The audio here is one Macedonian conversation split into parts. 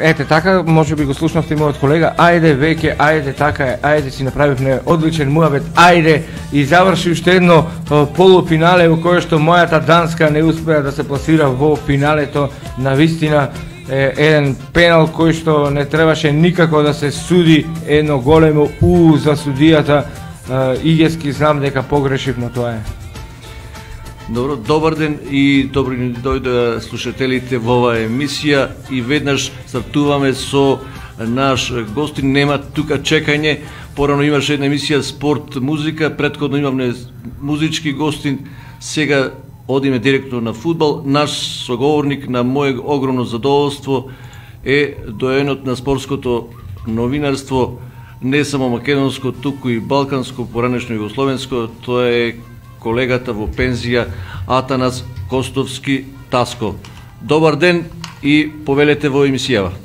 Ете така, може би го слушнавте мојот колега, ајде веќе, ајде така е, ајде си направивме одличен муабет, ајде и заврши уште едно полуфинале во кое што мојата Данска не успеа да се пласира во финалето. На вистина еден пенал кој што не требаше никако да се суди, едно големо за судијата. Игески знам дека погрешив, но тоа е. Добро, добар ден и добри ни дојдоа слушателите во оваа емисија и веднаш стартуваме со наш гостин. Нема тука чекање, порано имаше една емисија спорт, музика, претходно имавме музички гостин, сега одиме директно на фудбал. Наш соговорник на моје огромно задоволство е доенот на спортското новинарство, не само македонско, туку и балканско, поранешно југословенско, тоа е колегата во пензија Атанас Костовски Таско. Добар ден и повелете во емисијава.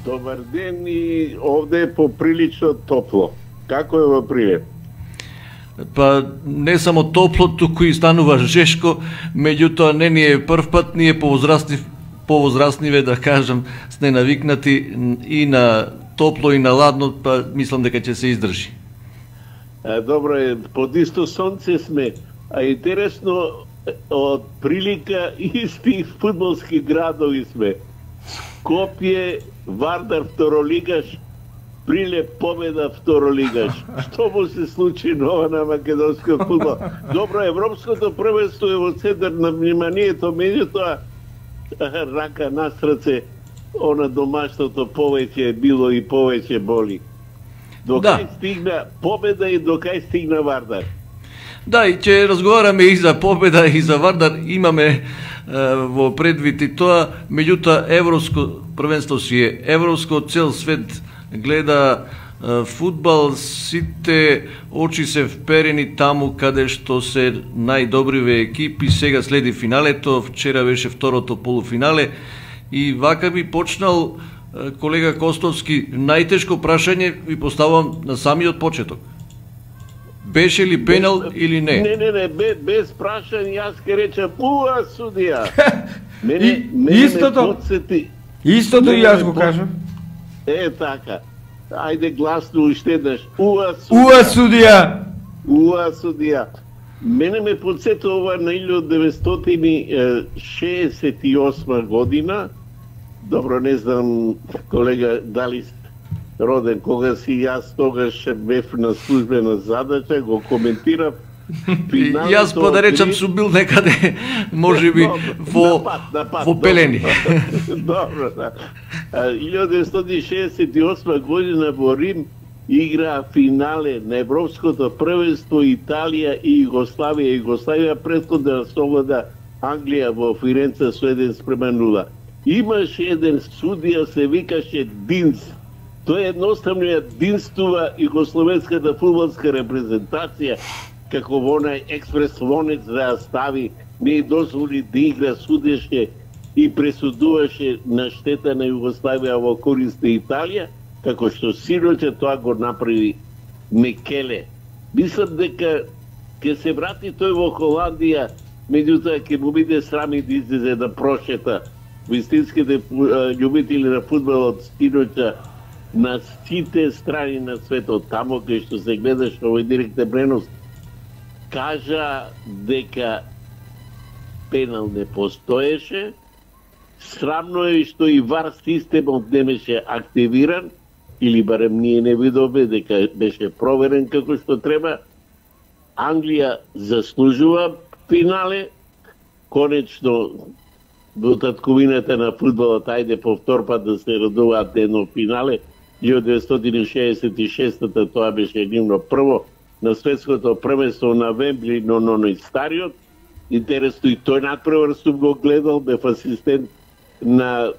Добар ден и овде е поприлично топло. Како е во Прилеп? Па не само топло, туку и станува жешко, меѓутоа не ни е прв пат, ние повозрастниве, да кажам, сме навикнати и на топло и на ладно, па мислам дека ќе се издржи. Добро е, под исто сонце сме, а интересно од прилика исти фудбалски градови сме. Скопје, Вардар второлигаш, Прилеп Победа второлигаш. Што му се случи нова на македонскиот фудбал? Добро, европското првенство е во центар на вниманието, меѓутоа рака на срце, она домашното повеќе било и повеќе боли. Докај стигна Победа и докај стигна Вардар? Да, и ќе разговараме и за Победа и за Вардар, имаме во предвид и тоа, меѓутоа европско првенство си е европско, цел свет гледа фудбал, сите очи се вперени таму каде што се најдобриве екипи, сега следи финалето, вчера беше второто полуфинале и вака би почнал колега Костовски, најтешко прашање ви поставам на самиот почеток. Беше ли пенал или не? Не, без прашање, јас ке речам, судија. Истото и јас го кажам. Така. Ајде гласно уште еднаш. Судија. Судија. Мене ме подсетува на 1968 година. Добро, не знам, колега, дали роден, кога си јас тогаш бев на службена задача, го коментирав. Јас па да речам сум бил некаде, може би, во Пелени. Добро, да. 1968 година во Рим игра финале на Европското првенство Италија и Југославија. Југославија претходно да совлада Англија во Фиренца со 1:0. Имаше еден судија, се викаше Динс. Тој едноставно ја динстува југословенската фудбалска репрезентација, како во онај експрес вонец да ја стави, не дозволи да игра, судеше и пресудуваше на штета на Југославија во корист на Италија, како што синоќа тоа го направи Мекеле. Мислам дека ќе се врати тој во Холандија, меѓутоа ќе му биде срами да излезе да прошета вистинските љубители на фудбалот синоќа на сите страни на светот, тамо кај што се гледаше овој директен пренос, кажа дека пенал не постоеше. Срамно е што и ВАР системот не беше активиран, или барем ние не видовме дека беше проверен како што треба. Англија заслужува финале, конечно во татковината на фудбалот, ајде повтор пат да се радуваат едно финале. 1966-та тоа беше нивно прво на светското првенство на Вембли, но и стариот. Интересно и тој надпревар сум го гледал, бев асистент на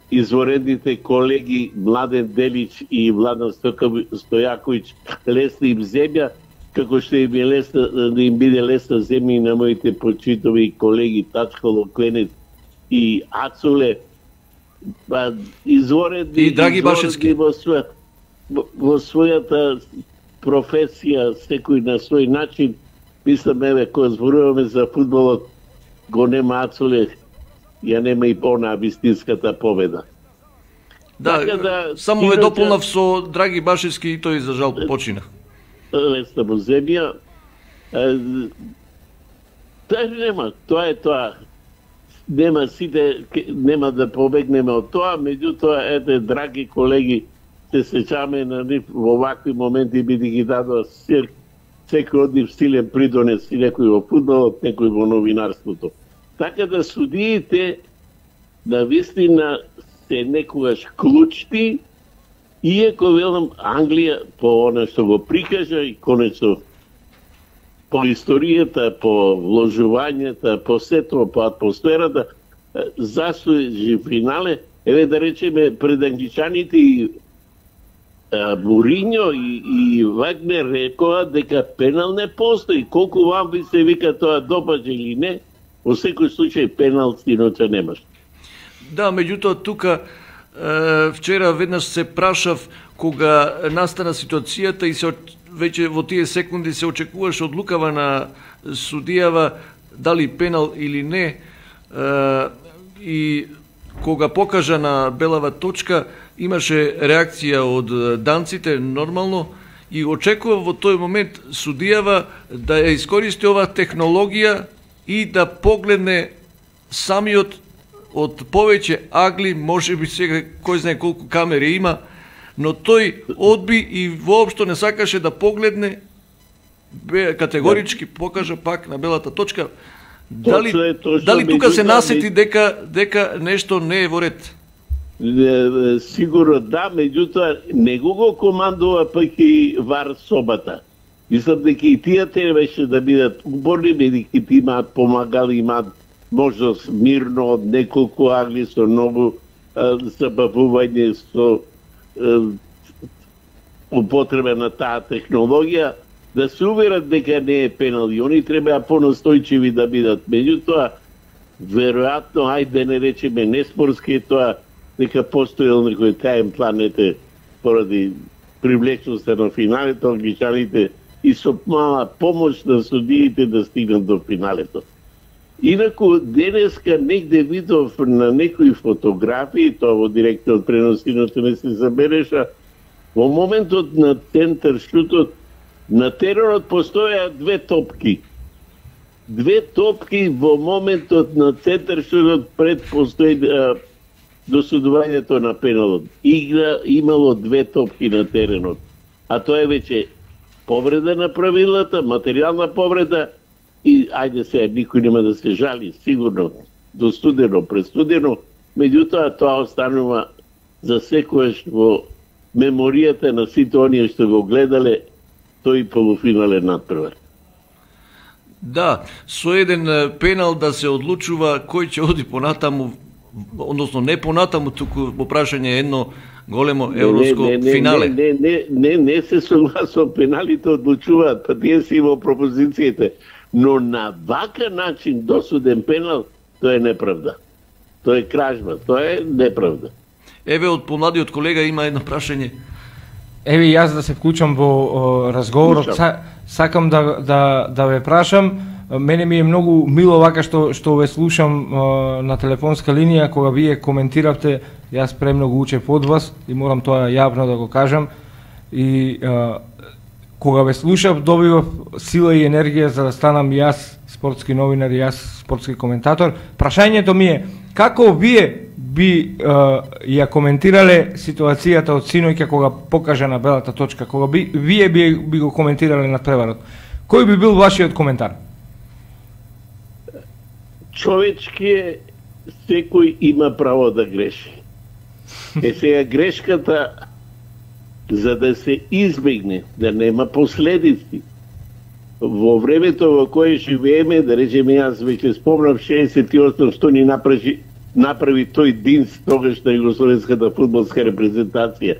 изворедните колеги Младен Делич и Владан Стојаковиќ. Лесна им земја, како што им е лесна, да им биде лесна земја и на моите почитови колеги Тачколо, Кленет и Ацуле. Изворедни и Драги Башевски во својата професија, секој на свој начин. Мислам, еве, кога зборуваме за фудбалот, го нема Ацуле, ја нема и она вистинската победа. Да, само ве дополнав со Драги Башевски и тој за жал почина. Лесна му земја. Тоа е тоа. Нема сите, нема да побегнеме од тоа, меѓутоа, драги колеги, се сеќаме на нив во вакви моменти, бидејќи дадоа секој од нив силен придонес, и некој во фудбалот, некој во новинарството. Така да судиите навистина се некогаш клучни, иако велам Англија по она што го прикажа и конечно по историјата, по вложувањата, по сето, по атмосферата, заслужи финале. Еве да речеме пред англичаните и Муриньо и Вагнер рекоа дека пенал не постои. Колку вам ви се вика тоа допаѓа или не, во секој случај пенал синоќа немаш. Да, меѓутоа тука вчера веднаш се прашав кога настана ситуацијата и се веќе во тие секунди се очекуваше одлукава на судијава дали пенал или не, и кога покажа на белава точка имаше реакција од данците нормално и очекува во тој момент судијава да ја искористи оваа технологија и да погледне самиот од повеќе агли, може би сега кој знае колку камери има, но тој одби и воопшто не сакаше да погледне, категорички покажа пак на белата точка. Дали тука се насети дека нешто не е во ред? Сигурно да, меѓутоа не го командува пак и ВАР собата. Мислам дека и тие требаше да бидат уборни, бидејќи ти имаат помагали, имаат можност мирно од неколку агли со многу забавување со употреба на таа технологија, да се уверат дека не е пенал и они треба понастојчиви да бидат. Меѓутоа, веројатно, ајде не речеме неспорски, тоа дека постоел некој таен планете поради привлечноста на финалето, англичаните и со мала помош на судиите да стигнат до финалето. Инаку, денеска негде видов на некои фотографии, тоа во директниот пренос иначе не се забележа, во моментот на центар шутот, на теренот постоја две топки. Две топки во моментот на центар шутот пред постои досудувањето на пеналот. Игра имало две топки на теренот. А тоа е веќе повреда на правилата, материјална повреда, и ајде се, никој нема да се жали, сигурно, достудено, престудено, меѓутоа тоа останува за секојаш во меморијата на сите оние што го гледале тој полуфинален надпревар. Да, со еден пенал да се одлучува кој ќе оди понатаму, односно не понатаму, туку во прашање едно големо европско финале. Не се согласувам, пеналите одлучуваат, па тие си во пропозициите. Но на вака начин досуден пенал, тоа е неправда. Тоа е кражба, тоа е неправда. Еве, од помладиот колега има едно прашање. Еве, јас да се вклучам во разговорот, сакам да ве прашам. Мене ми е многу мило вака што ве слушам на телефонска линија, кога вие коментиравте, јас премногу учев од вас и морам тоа јавно да го кажам. И кога ве слушав, добивав сила и енергија за да станам јас спортски новинар и јас спортски коментатор. Прашањето ми е, како вие би ја коментирале ситуацијата од синоќа кога покажа на белата точка, кога вие би го коментирале надпреварот? Кој би бил вашиот коментар? Човечки е, секој има право да греши. Сега грешката, за да се избегне, да нема последици, во времето во кое живееме, да речеме, јас веќе спомнав 68 што ни направи тој Динс тогаш на југословенската фудбалска репрезентација.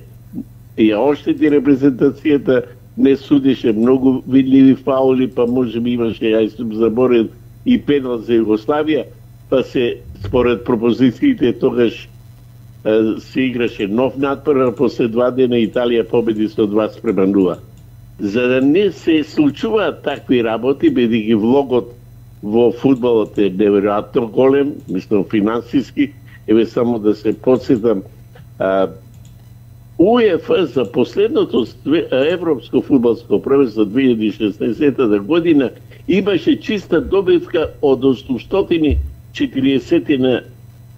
Ја оштети репрезентацијата, не судише многу видливи фаули, па може би имаше, јас сум заборен, и пенал за Југославија, па се, според пропозициите, тогаш се играше нов надпревар, после 2 дена Италија победи со 2-0. За да не се случуваат такви работи, бидејќи влогот во фудбалот е неверојатно голем, мислам финансиски, еве само да се подсетам, УЕФА за последното европско фудбалско првенство 2016 година имаше чиста добивка од 840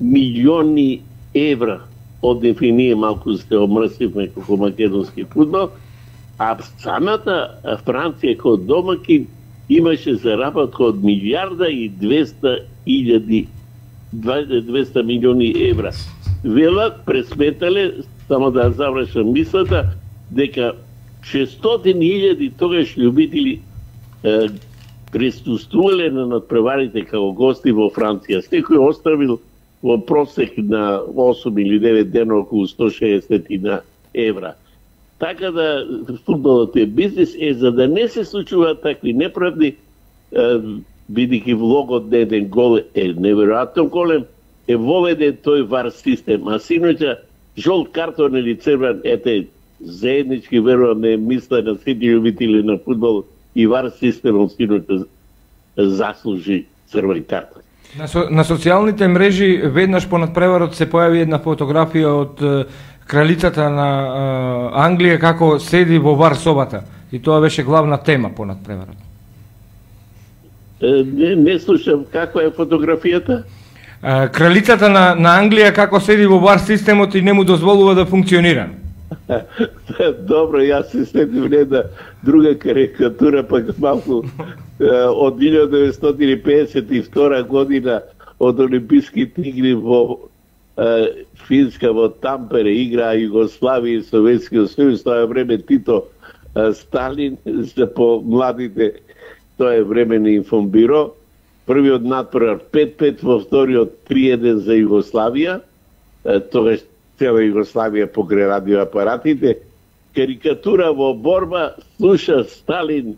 милиони евра. Од ние малку се омрсивме како македонски фудбал, а самата Франција како домакин имаше заработка од 1,2 милиони евра. Велат, пресметале, само да завршам мислата, дека 600.000 тогаш љубители присуствувале на надпреварите како гости во Франција. Секој оставил во просек на 8 или 9 дена околу 160 евра. Така да фудбалот е бизнес, за да не се случуваат такви неправди, бидејќи влогот на еден гол е неверојатно голем, е воведен тој вар систем. А синоќа жолт картон или црвен, заеднички верувам не мисла на сите љубители на фудбал и вар системот синоќа заслужи црвен картон. На социјалните мрежи веднаш по надпреварот се појави една фотографија од кралицата на Англија како седи во бар собата и тоа беше главна тема по надпреварот. Не слушам каква е фотографијата? Кралицата на Англија како седи во бар системот и не му дозволува да функционира. Добро, јас се сетив една друга карикатура, пак малку од 1952 година од Олимписките игри во Финска, во Тампере, играа Југославија и Советскиот сојуз, тоа е време Тито Сталин, за по младите тоа е време на информбиро. Првиот надпревар 5-5, во вториот 3-1 за Југославија, тогаш цела Југославија покрај радиоапаратите. Карикатура во борба, слуша Сталин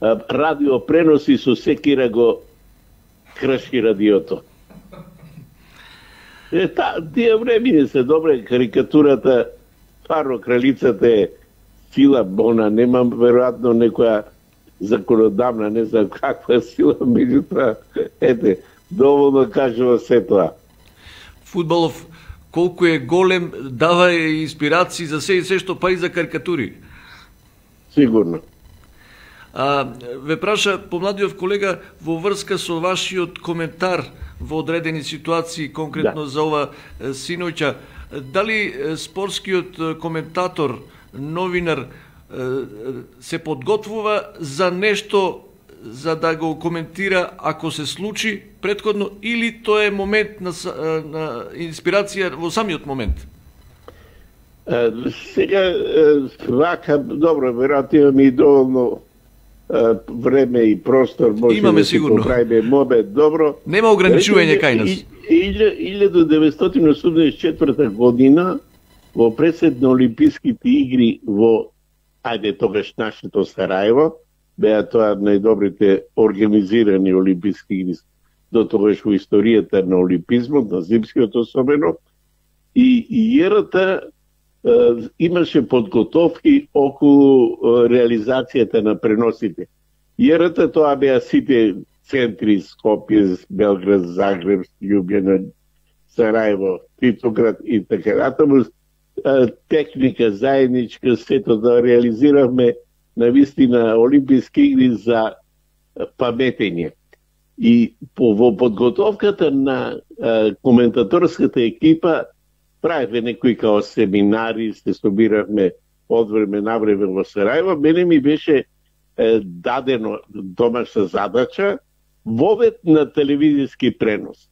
радиопреноси со секира го кршки радиото. Тие времени се добре, карикатурата, паро кралицата е сила, она нема веројатно некоја законодавна, не знам каква сила, меѓутоа, доволно кажува се тоа. Фудбалов колку е голем, дава инспирации за се и се што, па и за карикатури. Сигурно. Ве праша помладиот колега во врска со вашиот коментар во одредени ситуации, конкретно за ова синоќа, дали спортскиот коментатор, новинар, се подготвува за нешто за да го коментира ако се случи претходно, или тоа е момент на инспирација во самиот момент? Сега, вака, добро, веројатно имаме и доволно време и простор, може да се поправиме момент, добро. Нема ограничување кај нас. 1984 година во пресед на Олимписките игри во тогаш нашето Сараево, беа тоа најдобрите организирани Олимписки игри до тогаш во историјата на олимпизмот, на зимскиот особено, и ЕРТ имаше подготовки околу реализацијата на преносите. ЕРТ тоа беа сите центри, Скопје, Белград, Загреб, Љубљана, Сараево, Титоград и така натаму. Техника заедничка, сето да реализиравме на вистина Олимписки игри за паметење. И во подготовката на коментаторската екипа правевме некои као семинари, се собиравме од време на време во Сараево. Мене ми беше дадено домашна задача вовед на телевизиски пренос.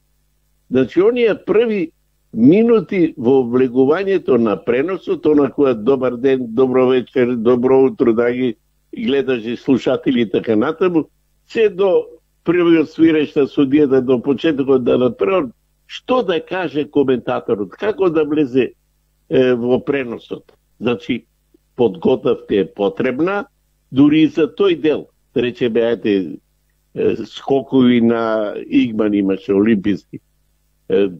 Значи, оние први минути во влегувањето на преносот, онаква добар ден, добро вечер, добро утро, драги гледачи, слушатели и така натаму, се до првиот свиреж на судијата, до почетокот да надпревар, што да каже коментаторот, како да влезе во преносот. Значи, подготовка е потребна, дури и за тој дел. Речеме, скокови на Игман имаше олимписки.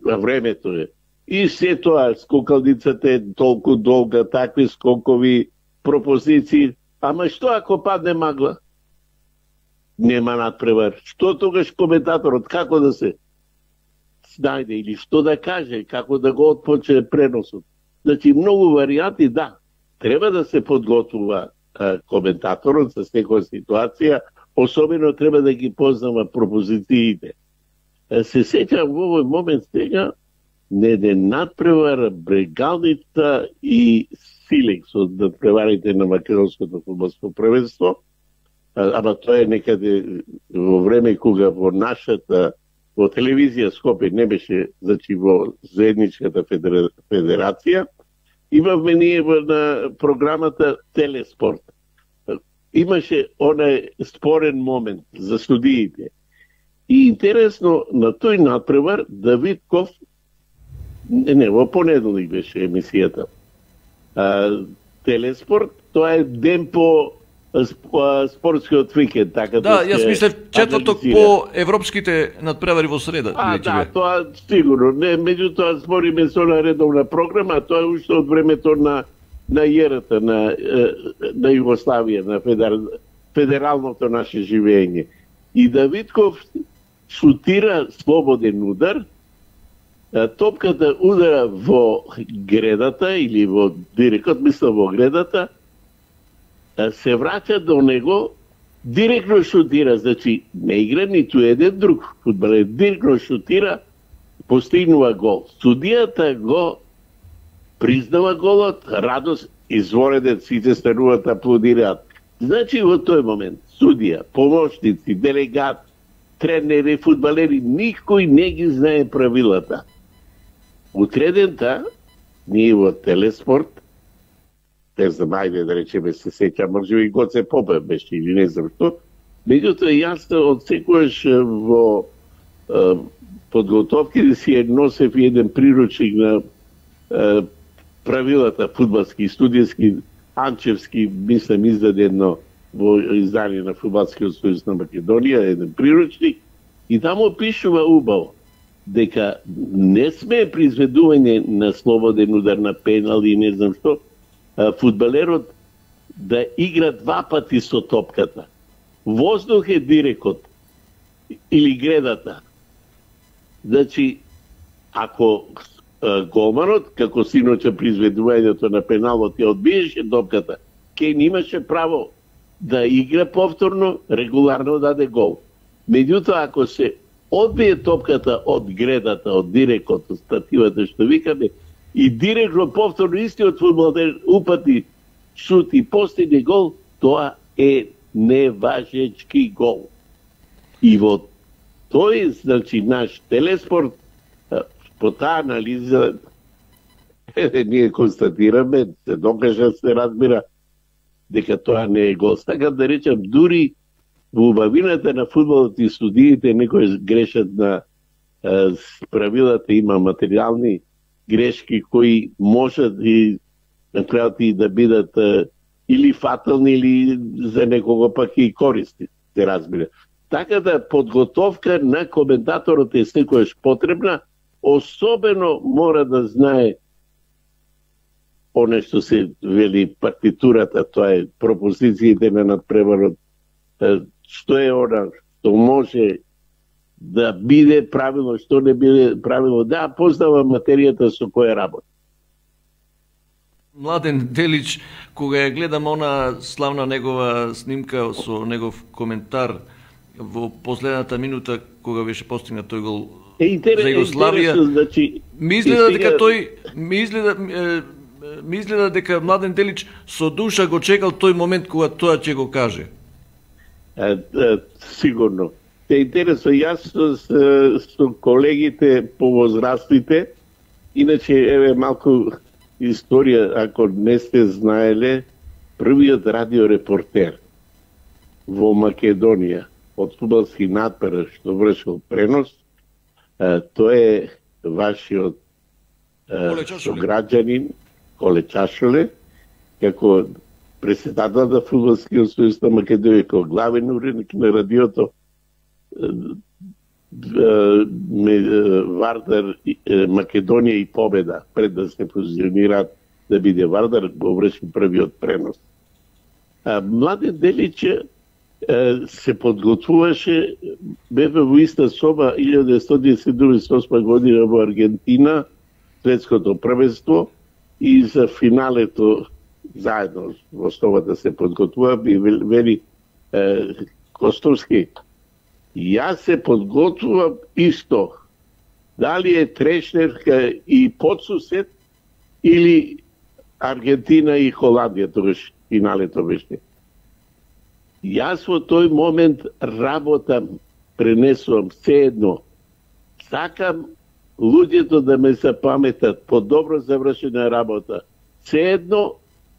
Времето е. И се тоа, скокалницата е толку долга, такви скокови, пропозиции. Ама што ако падне магла? Нема надпревар. Што тогаш коментаторот, како да се снајде или што да каже, како да го отпочне преносот? Значи, многу варијанти, да, треба да се подготвува коментаторот за секоја ситуација, особено треба да ги познава пропозициите. Се сеќам во овој момент сега на еден надпревар Брегалница и Силекс од надпреварите на македонското фудбалско првенство, ама тоа е некаде во време кога во нашата во телевизија Скопје не беше, значи во заедничката федерација, имавме ние на програмата Телеспорт. Имаше онај спорен момент за студиите. И интересно, на тој надпревар Давидков, не, во понеделник беше емисијата, Телеспорт, тоа е ден по спортскиот викенд, така да, јас мислев четврток по европските надпревари во среда. Да, тоа сигурно. Не, меѓутоа збориме со на редовна програма, тоа е уште од времето на ЕРТ, на Југославија, на федералното наше живење. И Давидков шутира слободен удар, топката удара во гредата или во директот, мисля во гредата, се враќа до него, директно шутира, значи не игра ниту еден друг фудбалер, директно шутира, постигнува гол. Судијата го признава голот, радост, извореден, сите стануваат, аплодираат. Значи во тој момент, судија, помошници, делегат, тренери, фудбалери, никој не ги знае правилата. Утредента, ние во Телеспорт, не знам, ајде да речеме се сеќа, може би Гоце Попе беше или не знам што, меѓутоа јас од секојаш во подготовките си носев еден приручник на правилата фудбалски, студијски, Анчевски, мислам, издадено во издание на Фудбалскиот сојуз на Македонија, еден приручник, и таму пишува убаво дека не сме произведување на слободен удар, на пенал и не знам што, фудбалерот да игра два пати со топката. Воздух е дирекот или гредата. Значи, ако голманот, како синоќа при изведувањето на пеналот ја одбиеше топката, Кейн имаше право да игра повторно, регуларно даде гол. Меѓутоа, ако се одбие топката од гредата, од дирекот, од стативата што викаме, и директно повторно истиот фудбалер упати шут и постигне гол, тоа е неважечки гол. И во тој, значи, наш Телеспорт, по таа анализа, ние констатираме, се докажа, се разбира, дека тоа не е гол. Така да речам, дури во убавината на фудбалот и судиите некои грешат на правилата, има материјални грешки кои можат и на крајот и да бидат или фатални, или за некого пак и користни, се разбира. Така да подготовка на коментаторот е секојаш потребна, особено мора да знае оне што се вели партитурата, тоа е пропозициите на надпреварот, што е она што може да биде правилно, што не биде правилно, да познава материјата со која работи. Младен Делич, кога ја гледам она славна негова снимка со негов коментар во последната минута кога беше постигнат тој гол за Југославија, значи, ми изгледа дека тој ми изгледа дека Младен Делич со душа го чекал тој момент кога тоа ќе го каже. Сигурно. Те интересно, јас со колегите повозрастните, иначе еве малку историја, ако не сте знаеле, првиот радиорепортер во Македонија од фудбалски надпревар што вршил пренос, тој е вашиот сограѓанин Коле Чашуле, како председател на Фудбалскиот сојуз на Македонија, како главен уредник на радиото Вардар, Македонија и Победа, пред да се позиционираат да биде Вардар, го врши првиот пренос. Младен Делич се подготвуваше, беве во иста соба 1978 година во Аргентина, светското првенство, и за финалето заедно во основата се подготвува, и вели Костовски, јас се подготвувам исто. Дали е трешнерка и подсусед или Аргентина и Холандија, тогаш финалето беше. Јас во тој момент работам, пренесувам се едно. Сакам луѓето да ме запаметат по добро завршена работа. Се едно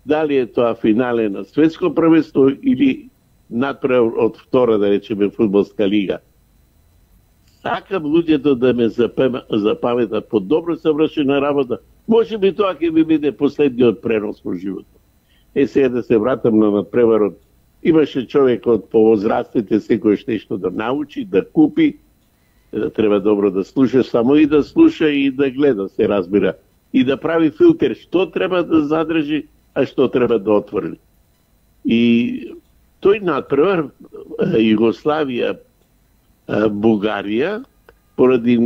дали е тоа финале на светско првенство или надправ од втора, да речеме, фудбалска лига. Сакам луѓето да ме запаметат по добро завршена работа. Може би тоа ќе ми биде последниот пренос во животот. Сега да се вратам на надпреварот. Имаше човек од повозрастните секојаш нешто да научи, да купи, треба добро да слуша, само и да слуша и да гледа, се разбира. И да прави филтер што треба да задржи, а што треба да отвори. И тој надпревар Југославија, Бугарија, поради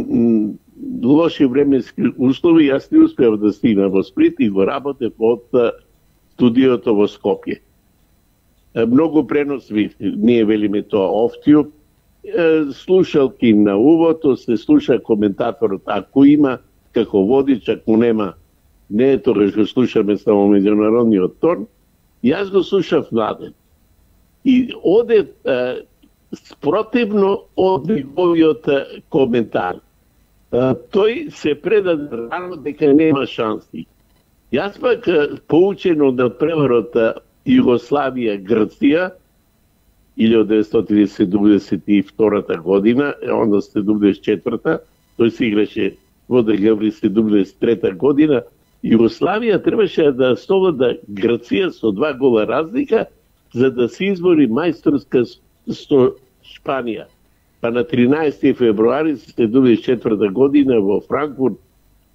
лоши временски услови, јас не успеав да стигнам во Сплит и го работев од студиото во Скопје. Многу преносви, ние велиме тоа офтио, слушалки на увото, се слуша коментаторот, ако има како водич, ако нема, не тогаш го слушаме само меѓународниот тон, јас го слушав Младен. И оде спротивно од неговиот коментар. Тој се предаде рано дека нема шанси. Јас пак, поучен од надпреварот Југославија, Грција, 1972 година, онда 74-та, тој се играше во декември 73 година, Југославија требаше да совлада Грција со 2 гола разлика, за да се избори мајсторска со Шпанија. Па на 13 февруари 74 година во Франкфурт,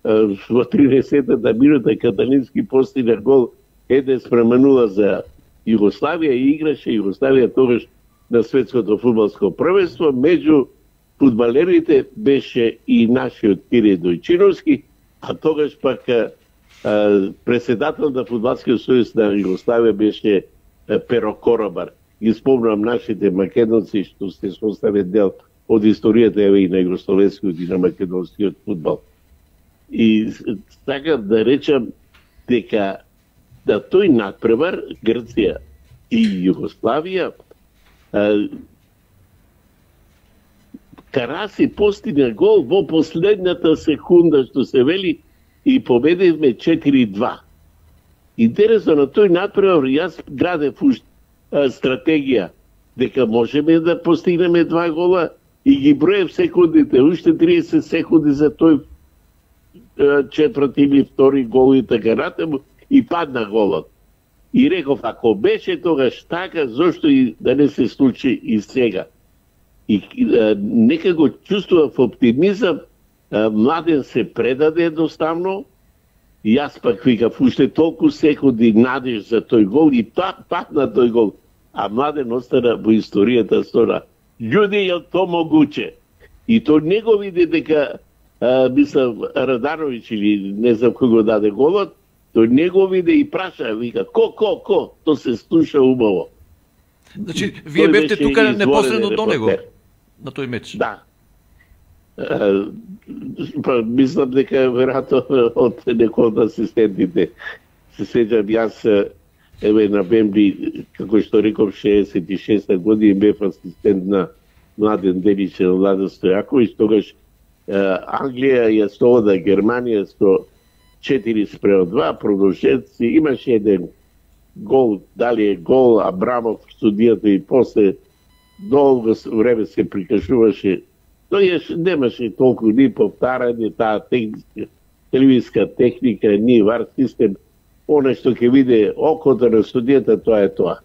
во 30-та минута Каталински постигна гол 1:0 за Југославија и играше Југославија тогаш на светското фудбалско првенство. Меѓу фудбалерите беше и нашиот Кире Дојчиновски, а тогаш пак председател на Фудбалскиот сојуз на Југославија беше Перо Коробар. Ги спомнам нашите македонци што се состави дел од историјата и на југословенскиот и на македонскиот фудбал. И сакам да речам дека да тој надпревар Грција и Југославија, Караси постигна гол во последната секунда, што се вели, и победивме 4-2. Интересно, на тој надпревар јас градев стратегија дека можеме да постигнеме 2 гола и ги броев секундите, уште 30 секунди за тој четврти или втори гол и така натаму, и падна голот. И реков, ако беше тогаш така, зошто и да не се случи и сега? И нека го чувствував оптимизам, Младен се предаде едноставно, и јас пак викав, уште толку секунди надеж за тој гол и падна тој гол. А Младен остана во историјата со људи, е то могуче. И то не го види дека, мислам, Радановиќ или не знам кој го даде голот, тој не го види и праша, вика, ко, то се слуша убаво. Значи, вие бевте тука непосредно до него, на тој меч? Да. Па, мислам дека веројатно од некој од асистентите. Се сеќам, јас на Бемби, како што реков, 66 години бев асистент на Младен Делич и Владо Стојаковиќ, тогаш Англија ја совлада Германија со 4:2, продолжетци, имаше еден гол, дали е гол, Абрамов, судијата и после долго време се прикажуваше. Тој немаше толку ни повтарање, таа телевизска техника, ни вар систем, оно што ќе види окото на судијата, тоа е тоа.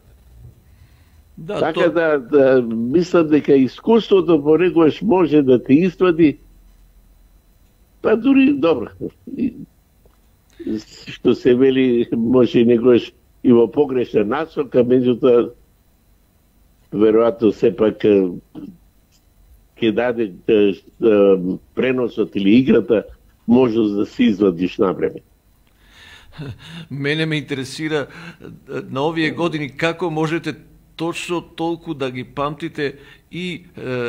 Да, така да мислам дека искуството понекогаш може да те извади, па дури добро. Што се вели, може некогаш и во погрешна насока, меѓутоа веројатно сепак ќе даде преносот или играта можност да се извадиш на време. Мене ме интересира на овие години како можете точно толку да ги памтите и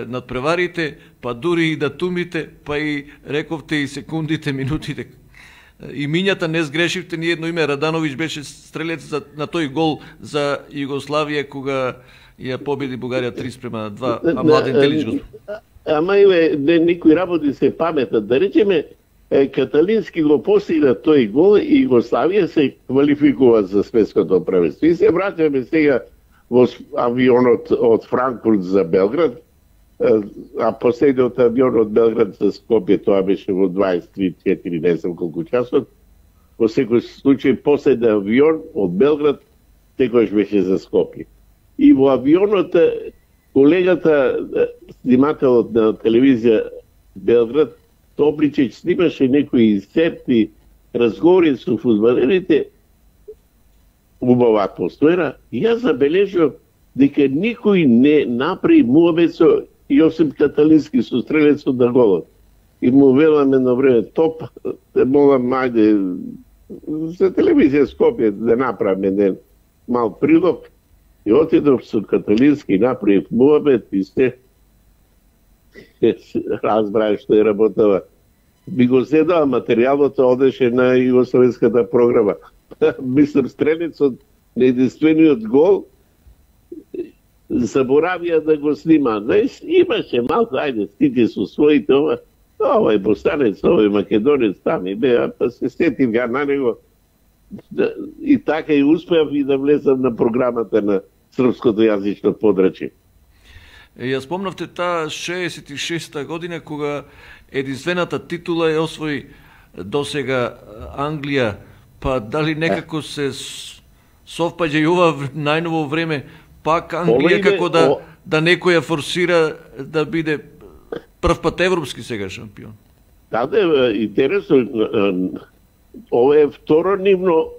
надпреварите, па дури и датумите, па и рековте и секундите, минутите. И минјата не сгрешивте ни едно име. Радановиќ беше стрелец на тој гол за Југославија кога ја победи Бугарија 3:2, а Младен Телич го. Ама некои работи се паметат. Да речеме, Каталински го постигна тој гол и Југославија се квалификува за светското првенство. И се враќаме сега во авионот од Франкфурт за Белград, а последниот авион од Белград за Скопје, тоа беше во 23-4, не знам колку часот. Во секој случај, последен авион од Белград секојаш беше за Скопје. И во авионот колегата, снимателот на телевизија Белград, Топличеќ, снимаше некои инсерти, разговори со фудбалерите, убава атмосфера, и јас забележав дека никој не направи муабет со Јосип Каталински со стрелецот на голот. И му велам едно време, топ, те молам, ајде, за телевизија Скопје да направам еден мал прилог. И отидов со Каталински и направив муабет и се разбрае што е работава. Би го седава материјалот, одеше на југословенската програма. Мислам, стрелецот на единствениот гол заборавија да го снима. Знаеш, имаше малко, ајде, стите со своите, овој бостанец, овој македонец там и беа, па се сетив ја на него. И така и успеав и да влезам на програмата на српското јазично подрачје. Ја спомнавте таа 66-та година кога единствената титула ја освои досега Англија, па дали некако се совпаѓа и ова најново време, пак Англија како да некој ја форсира да биде прв пат европски сега шампион? Да, интересно, ова е второ нивно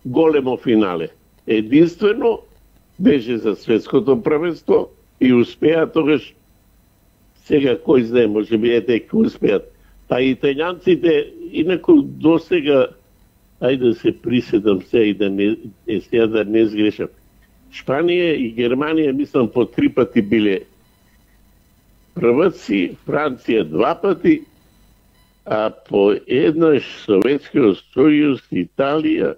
големо финале. Единствено беше за светското првенство и успеа тогаш, сега кој знае, може би ете кој успеат. Па италијанците, инаку досега, ајде да се приседам се и да не сгрешам. Шпанија и Германија, мислам, по 3 пати биле прваци, Франција 2 пати, а по еднаш Советскиот сојуз, Италија,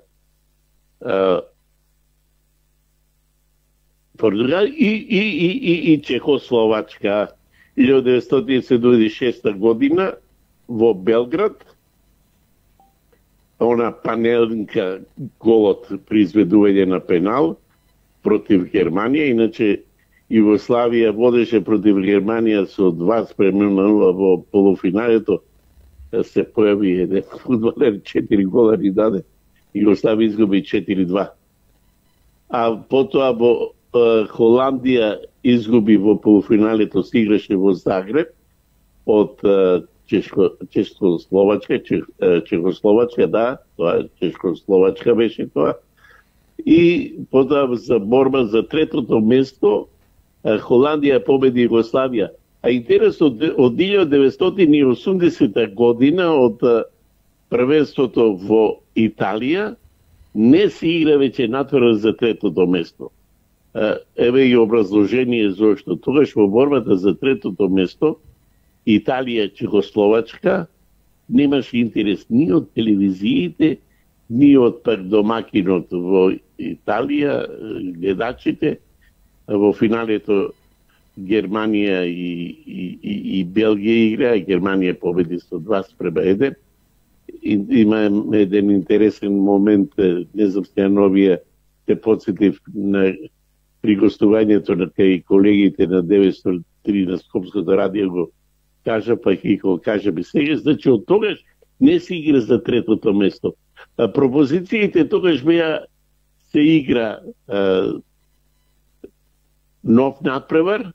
Португалија и Чехословачка 1976 година во Белград, она панелнка голот при изведување на пенал против Германија, иначе Југославија водеше против Германија со 2:0 во полуфиналето, се појави еден фудбалер, 4 гола ни даде, Југославија изгуби 4:2. А потоа во Холандија изгуби во полуфиналето, се играше во Загреб од Чехословачка, да, тоа Чехословачка беше тоа. И потоа за борба за третото место Холандија победи Југославија. А интересно, од 1980 година, од првенството во Италија, не се игра веќе натвора за третото место. Еве и образложение зошто. Тогаш во борбата за третото место, Италија, Чехословачка, немаше интерес ни од телевизиите, ни од домакинот во Италија, гледачите. Во финалето Германија и Белгија игра, Германија победи со 2:1. Има еден интересен момент, не знам се новија, те подсетив на при гостувањето на кај колегите на 903 на Скопското радио го кажа, па и го кажа би сега, значи од тогаш не се игра за третото место. Пропозициите тогаш беа се игра нов надпревар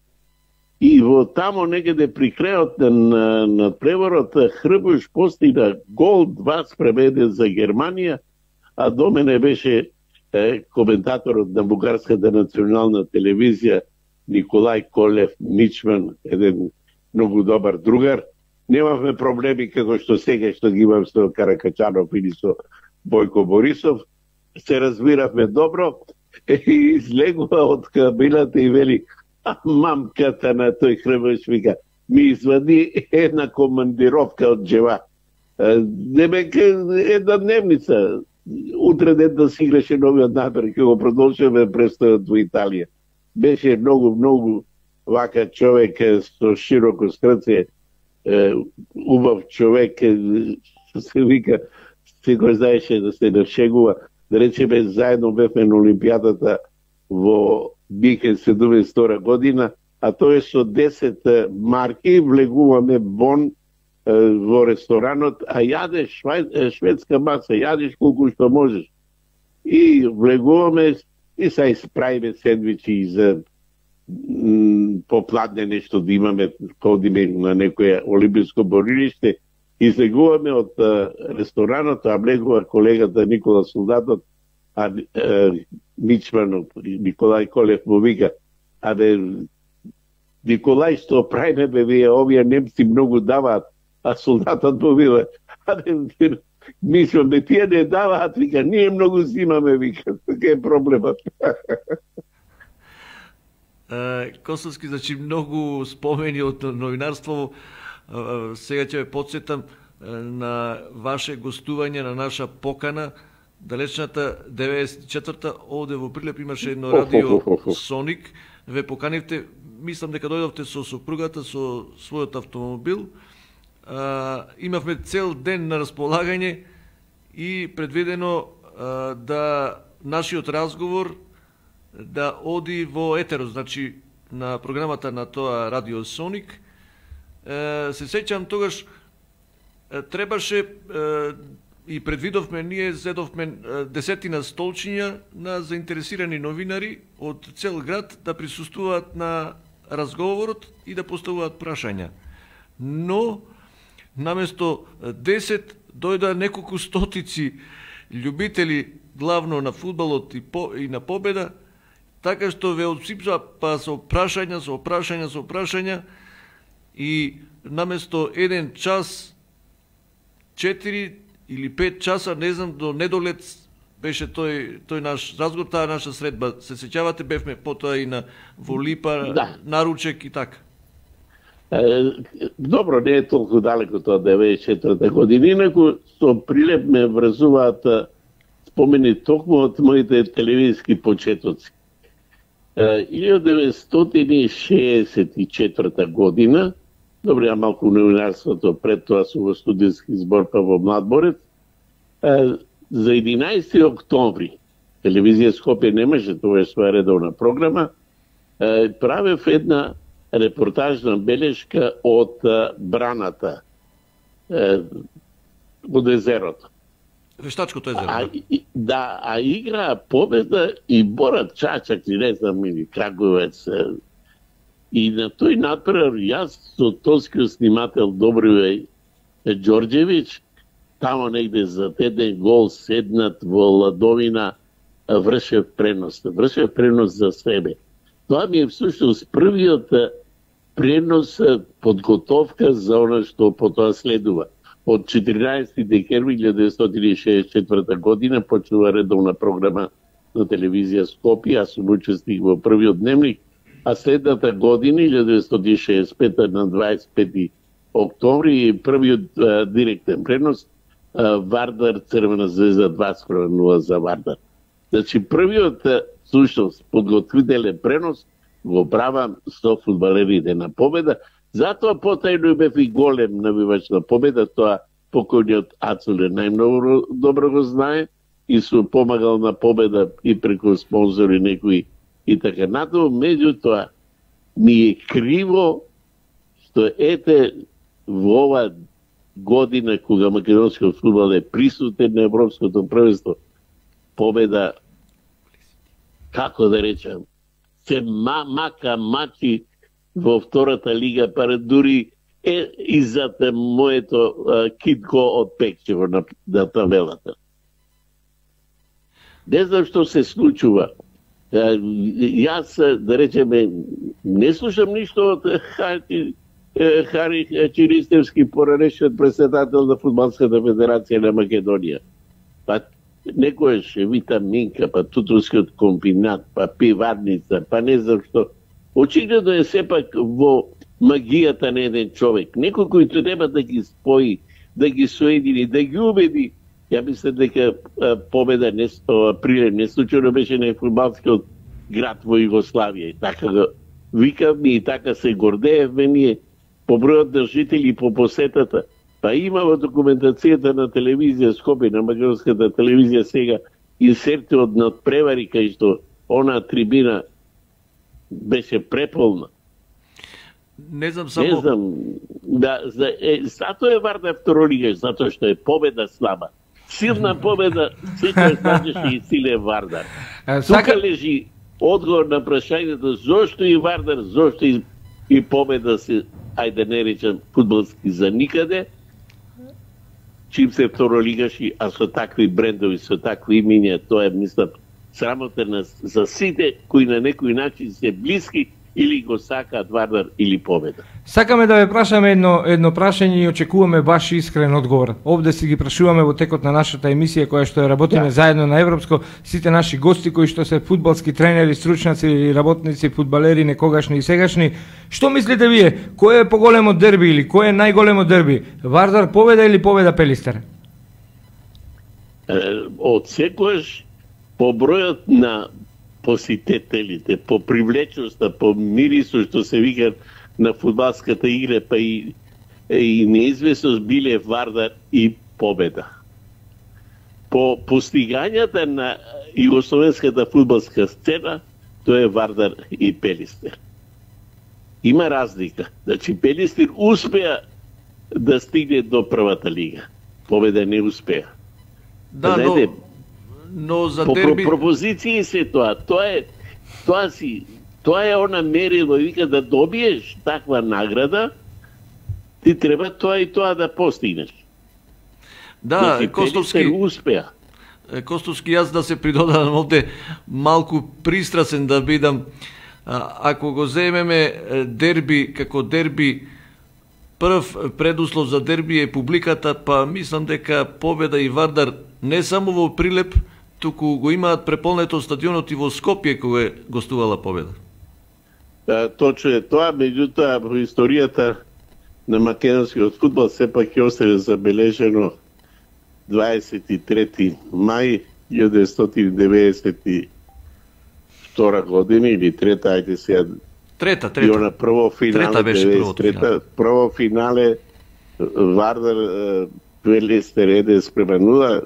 и во тамо некаде при крајот на надпреварот Хрбуш постигна гол 2:1 за Германија, а до мене беше коментаторот на бугарската национална телевизија Николај Колев Мичман, еден многу добар другар. Немавме проблеми како што сега што ги имам со Каракачанов или со Бојко Борисов, се разбиравме добро и излегува од кабината и вели, а мамката на тој Хрбеш вика, ми извади една командировка од джеба. Демек една дневница. Утре ден да си играше новиот напер, ќе го продолжиме престојот во Италија. Беше многу вака човек со широко срце, убав човек, се вика, секој знаеше да се нашегува. Да речеме, заедно бевме на Олимпијадата во Михен 72 година, а тој со 10 марки влегуваме бон во ресторанот, а јадеш шведска маса, јадеш колку што можеш. И влегуваме и се исправиме сендвичи и за попладне нешто да имаме, ходиме на некоја олимписко борилиште, излегуваме од ресторанот, а влегува колегата Никола Солдатот, а мичманот Николај Колев му вика, Николај, што правиме бе, вие овие немци многу даваат, а солдатот му вика, мислам, тие не даваат, вика, ние многу зимаме, вика, така е проблемот. Косовски, значи, многу спомени од новинарство. Сега ќе ве подсетам на ваше гостување, на наша покана, далечната 94-та, овде во Прилеп имаше едно радио Соник, ве поканивте, мислам дека дојдовте со сопругата, со својот автомобил, имавме цел ден на располагање и предвидено да нашиот разговор да оди во етеро, значи на програмата на тоа Радио Соник. Се сеќам тогаш требаше и предвидовме, ние зедовме 10 столчиња на заинтересирани новинари од цел град да присуствуваат на разговорот и да поставуваат прашања. Но наместо 10 дојда неколку стотици љубители главно на фудбалот и на победа, така што ве отсипса па со прашања и наместо 1 час 4 или 5 часа, не знам, до недолет беше тој наш разговор, таа наша средба. Се сеќавате, бевме потоа и на Волипа, да, наручек и така. Добро, не е толку далеко тоа 94-та година, инаку со Прилеп ме врзуваат спомени токму од моите телевизиски почетоци. 1964 година, добро, ја малку новинарството пред тоа со во студентски збор па во Младборец, за 11 октомври, телевизија Скопје немаше, тоа е своја редовна програма, правев една репортажна белешка од браната од езерото. Вештачкото езеро. А игра победа и Борат Чачак, не знам, или Краговец. И на тој надпревар, јас со тоскиот снимател Добривеј Ѓорѓевиќ, тамо негде за еден гол седнат во Ладовина, вршев пренос за себе. Тоа ми е всушност првиот пренос, подготовка за она што потоа следува. Од 14 декември 1964 година почнува редовна програма на телевизија Скопје, аз сум учесник во првиот дневник, а следната година, 1965 на 25 октомври, првиот директен пренос, Вардар Црвена звезда 2:0 за Вардар. Значи, првиот всушност подготвителен пренос го правам со фудбалерите на Победа. Затоа потајно бев и голем навивач на Победа, тоа покојниот Ацуле најмногу добро го знае и сум помагал на Победа и преку спонзори некои и така натаму. Меѓутоа ми е криво што ете во ова година кога македонскиот фудбал е присутен на европското првенство, Победа, како да речам, се мака мачи во втората лига, па дури е иззад моето китко од Пекчево на табелата. Не знам што се случува. Јас, да речеме, не слушам ништо од Хари Чиристевски, поранешниот председател на Фудбалската федерација на Македонија. Па некојаш витаминка, па тутускиот комбинат, па пиварница, па не знам што. Очигледно е сепак во магијата на еден човек. Некој кој треба да ги спои, да ги соедини, да ги убеди. Ја мислам дека победа Прилеп не случајно беше на фудбалскиот град во Југославија. И така го викавме и така се гордеевме ние по бројот на жители по посетата. Па има во документацијата на телевизија Скопје, на македонската телевизија сега, инсерти од надпревари кај што она трибина беше преполна. Не знам само... Не знам, затоа е Вардар второлигаш, затоа што е победа слаба. Силна победа, секој знаеше и силен Вардар. Тука лежи одговор на прашањето зошто и Вардар, зошто и победа се, ајде не речам, фудбалски за никаде, чим се второлигаши, а со такви брендови, со такви имиња, тоа е, мислам, срамота за сите кои на некој начин се блиски или го сакаат Вардар или победа. Сакаме да ве прашаме едно прашање и очекуваме баш искрен одговор. Овде си ги прашуваме во текот на нашата емисија која што ја работиме заедно на Европско, сите наши гости кои што се фудбалски тренери, стручњаци или работници, фудбалери некогашни и сегашни. Што мислите вие? Кој е поголемо дерби или кој е најголемо дерби? Вардар победа или победа Пелистер? Од секојаш по бројот на посетителите, по привлечноста, по мирисот што се вика на фудбалската игра, па и неизвестност биле Вардар и победа. По постигањата на југословенската фудбалска сцена, тоа е Вардар и Пелистер. Има разлика. Значи, Пелистер успеа да стигне до првата лига. Победа не успеа. Да, но за по дерби... пропозиции се тоа. Тоа е она мерило, вика, да добиеш таква награда, ти треба тоа и тоа да постигнеш. Да, Костовски успеа. Костовски, јас да се придодам овде малку пристрасен да бидам. Ако го земеме дерби како дерби, прв предуслов за дерби е публиката, па мислам дека победа и Вардар не само во Прилеп, туку го имаат преполнето стадионот и во Скопје кога е гостувала победа. Точно е тоа, меѓутоа во историјата на македонскиот фудбал сепак ќе остане забележено 23 мај 1992 година или трета, ајде сега. Трета. И она прво финале, прво финале Вардар Пелистер 1:0,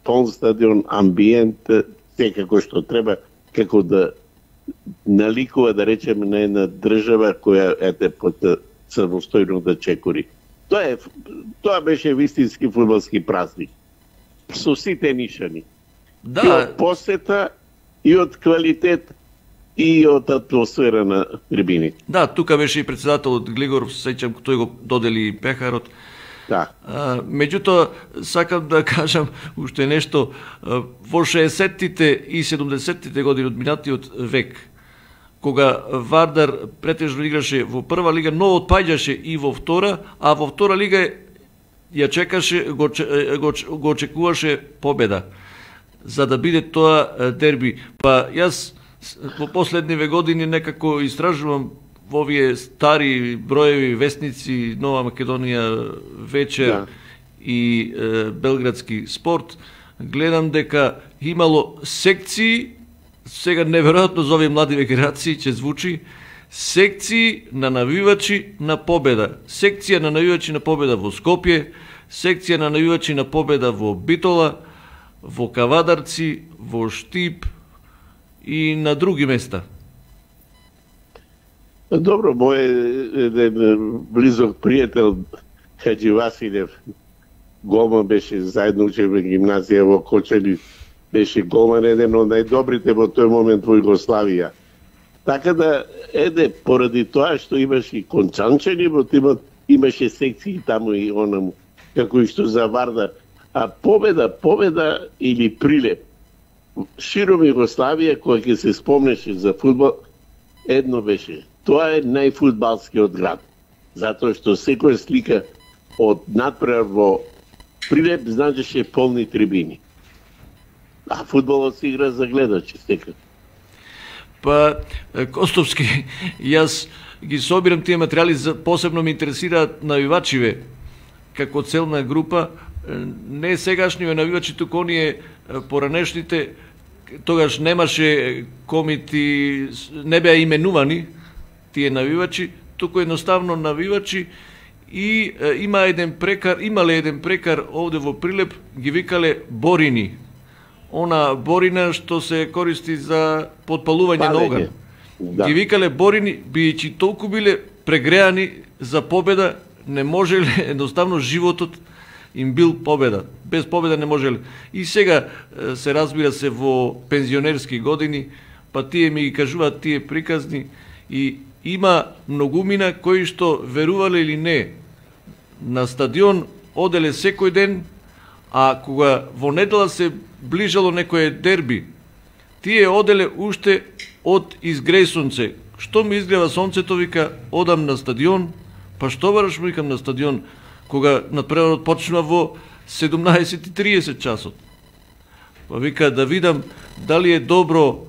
пон стадион, амбиент, секако што треба, како да наликува, да речеме, на една држава која самостојно да чекори. Тоа беше вистински фудбалски празник. Со сите нишани. Да. И од посета, и од квалитет, и од атмосфера на трибините. Да, тука беше и председателот Глигоров, сеќам, тој го додели пехарот. Да. Меѓутоа, сакам да кажам уште нешто. Во 60-тите и 70-тите години од минатиот век, кога Вардар претежно играше во прва лига, но отпаѓаше и во втора, а во втора лига ја чекаше, го очекуваше победа, за да биде тоа дерби. Па јас во последниве години некако истражувам во овие стари броеви вестници, Нова Македонија вечер и Белградски спорт, гледам дека имало секции, сега неверојатно за овие млади генерации ќе звучи, секции на навивачи на победа. Секција на навивачи на победа во Скопје, секција на навивачи на победа во Битола, во Кавадарци, во Штип и на други места. Добро, мој еден близок пријател Хаджи Василев, голман беше, заедно учевме гимназија во Кочани, беше голман, еден од најдобрите во тој момент во Југославија. Така да, поради тоа што имаше и кончанчени во тимот, имаше секции таму и онаму, како и што за Вардар. А победа или Прилеп, широм Југославија, која ќе се спомнеше за фудбал, едно беше. Тоа е најфудбалскиот град. Затоа што секоја слика од надпревар во Прилеп значеше полни трибини. А фудбалот се игра за гледачи, секако. Па, Костовски, јас ги собирам тие материјали, посебно ме интересираат навивачиве, како целна група, не сегашниве навивачи, туку оние поранешните, тогаш немаше комити, не беа именувани тие навивачи, туку едноставно навивачи и имале еден прекар овде во Прилеп, ги викале борини. Она борина што се користи за подпалување на оган. Да. Ги викале борини, бијќи толку биле прегреани за победа, не можеле, едноставно животот им бил победа. Без победа не можеле. И сега се разбира се во пензионерски години, па тие ми ги кажуваат тие приказни и има многумина кои што верувале или не, на стадион оделе секој ден, а кога во недела се ближало некое дерби, тие оделе уште од изгреј сонце. Што ми изгрева сонцето, вика, одам на стадион, па што бараш, викам, на стадион, кога надпреварот почнува во 17:30 часот. Па вика, да видам дали е добро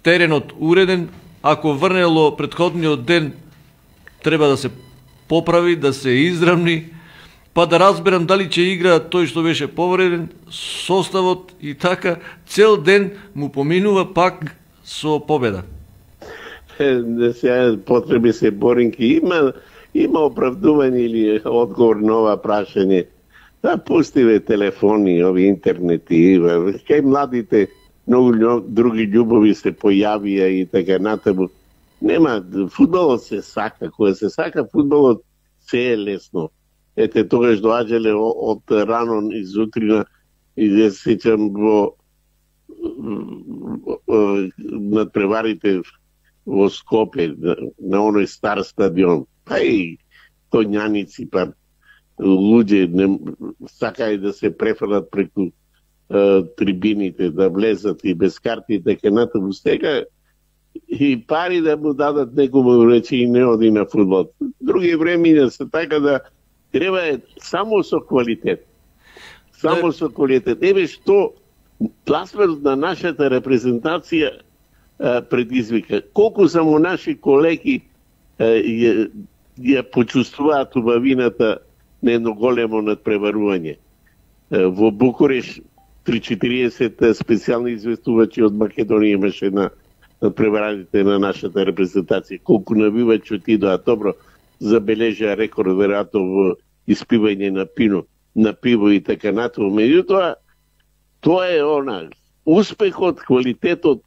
теренот уреден, ако врнело претходниот ден, треба да се поправи, да се изравни, па да разберам дали ќе игра тој што беше повреден, составот и така, цел ден му поминува пак со победа. Сега потреби се боринки. Има оправдување или одговор на ова прашање. Да пустиве телефони, ови интернети, кај младите многу други љубови се појавија и така натаму. Нема, фудбалот се сака, кога се сака фудбалот се е лесно. Ете, тогаш доаѓале од рано изутрина и да се сеќам во надпреварите во Скопје, на оној стар стадион. Па и конјаници, па луѓе сакаја да се префрлат преку трибините, да влезат и без карти и така натаму. Сега и пари да му дадат некому речи и не оди на фудбал. Други времења се така да треба е само со квалитет. Само со квалитет. Еве што пласманот на нашата репрезентација предизвика. Колку само наши колеги ја почувствуваат убавината на едно големо надпреварување. Во Букуреш 3-40 специјални известувачи од Македонија имаше на надпревараните на нашата репрезентација. Колку навивачи отидоа, добро, забележа рекорд веројатно во испивање на пиво и така натаму. Меѓутоа, тоа е успехот, квалитетот,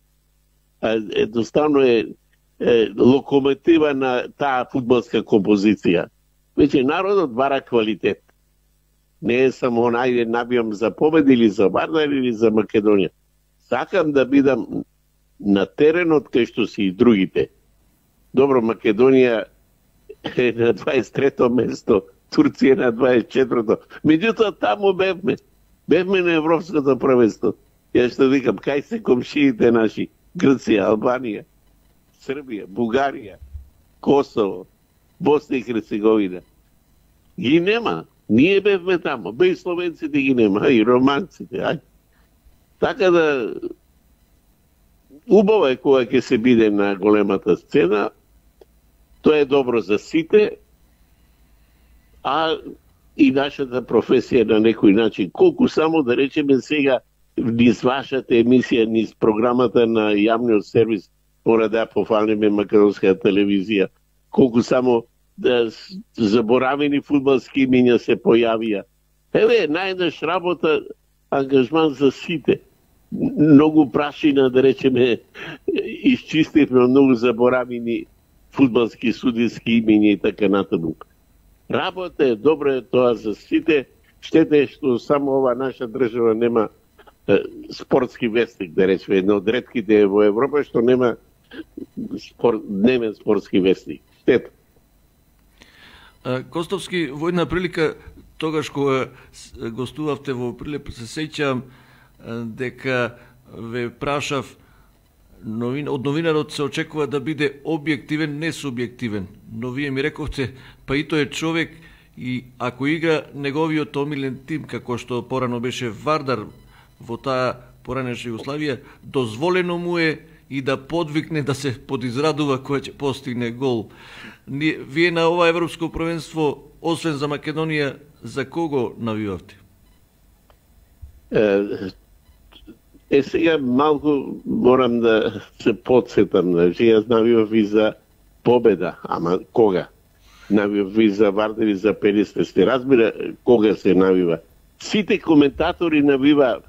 едноставно е локомотива на таа фудбалска композиција. Веќе народот бара квалитет. Не е само ајде набијам за победа или за Вардар или за Македонија. Сакам да бидам на теренот кај што си и другите. Добро, Македонија е на 23-то место, Турција на 24-то. Меѓутоа таму бевме. Бевме на Европското првенство. Јас што викам, кај се комшиите наши? Грција, Албанија, Србија, Бугарија, Косово, Босна и Херцеговина. Ги нема. Ние бевме таму. Бе и словенците ги нема, и романците. Ај. Така да убаво е кога ќе се биде на големата сцена. Тоа е добро за сите, а и нашата професија на некој начин. Колку само да речеме сега низ вашата емисија, низ програмата на јавниот сервис, мора да пофалиме македонска телевизија. Колку само да заборавени фудбалски имиња се појавија. Еве, најдеш работа, ангажман за сите. Многу прашина, да речеме, исчистивме многу заборавени фудбалски судиски имиња и така натаму. Работа е, добро е тоа за сите. Штета е што само ова наша држава нема спортски вестник, да речеме, едно од ретките во Европа што нема дневен спортски вестник. Штета. Костовски, во една прилика, тогаш кога гостувавте во Прилеп, се сеќавам дека ве прашав, од новинарот се очекува да биде објективен, не субјективен. Но вие ми рековте, па и тој е човек и ако игра неговиот омилен тим, како што порано беше Вардар, во таа поранешна Југославија, дозволено му е и да подвикне да се подизрадува кој ќе постигне гол. Вие на ова европско првенство, освен за Македонија, за кого навивавте? Сега малку морам да се подсетам, јас навивав и за победа, ама кога? Навивав и за Вардар и за 50, се разбира кога се навива. Сите коментатори навива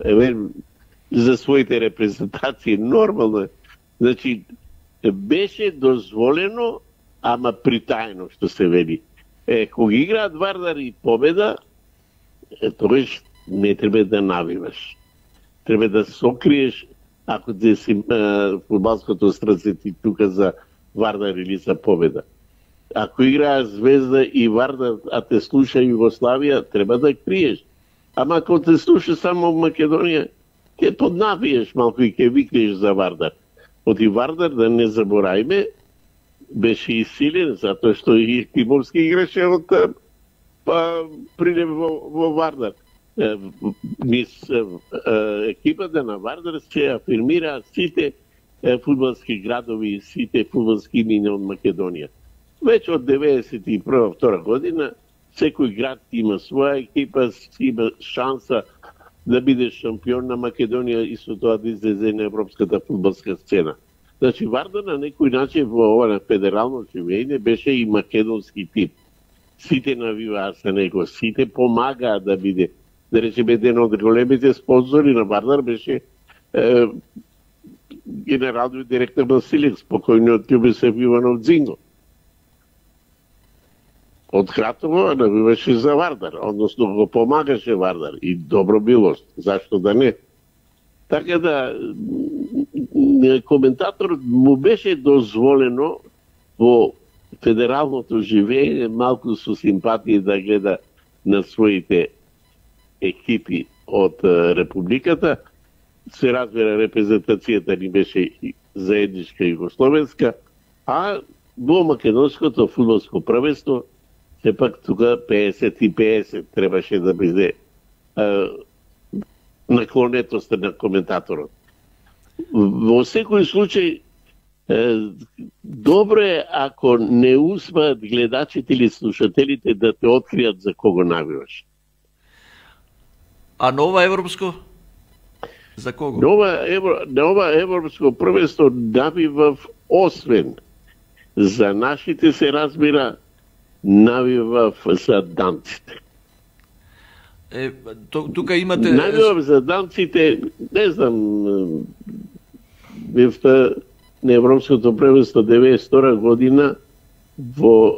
за своите репрезентации, нормално е. Значи, беше дозволено, ама притајно, што се вели. Кога играат Вардар и победа, тогаш не треба да навиваш. Треба да сокриеш, ако те си фудбалското срце ти тука за Вардар или за победа. Ако играа Звезда и Вардар, а те слуша Југославија, треба да криеш. Ама ако те слуша само Македонија, ќе поднавиеш малку и ќе викнеш за Вардар. Оти Вардар, да не заборајме, беше исилен, затоа што и Тимовски играше од прилеп во Вардар. Екипата на Вардар се афирмира сите фудбалски градови и сите фудбалски имиња од Македонија. Веќе од 91-2 година секој град има своја екипа, има шанса да биде шампион на Македонија и со тоа да излезе на европската фудбалска сцена. Значи Вардар на некој начин во ова на федерално живење беше и македонски тип. Сите навиваа за него, сите помагаа да биде. Да речеме, еден од големите спонзори на Вардар беше генералниот директор Василек, спокојниот Љубисев Иванов Дзинго. Од Кратово навиваше за Вардар, односно го помагаше Вардар и добро било, зашто да не. Така да, коментаторот му беше дозволено во федералното живење малку со симпатија да гледа на своите екипи од Републиката. Се разбира, репрезентацијата ни беше заедничка југословенска, а во македонското фудбалско првенство сепак тука 50-50 требаше да биде наклонетоста на коментаторот. Во секој случај, добро е ако не успеат гледачите или слушателите да те откријат за кого навиваш. А нова европско? За кого? Нова европско првенство навивав освен за нашите, се разбира, навивав за данците. Тука имате... Навивав за данците, не знам, на Европското првенство 92 година во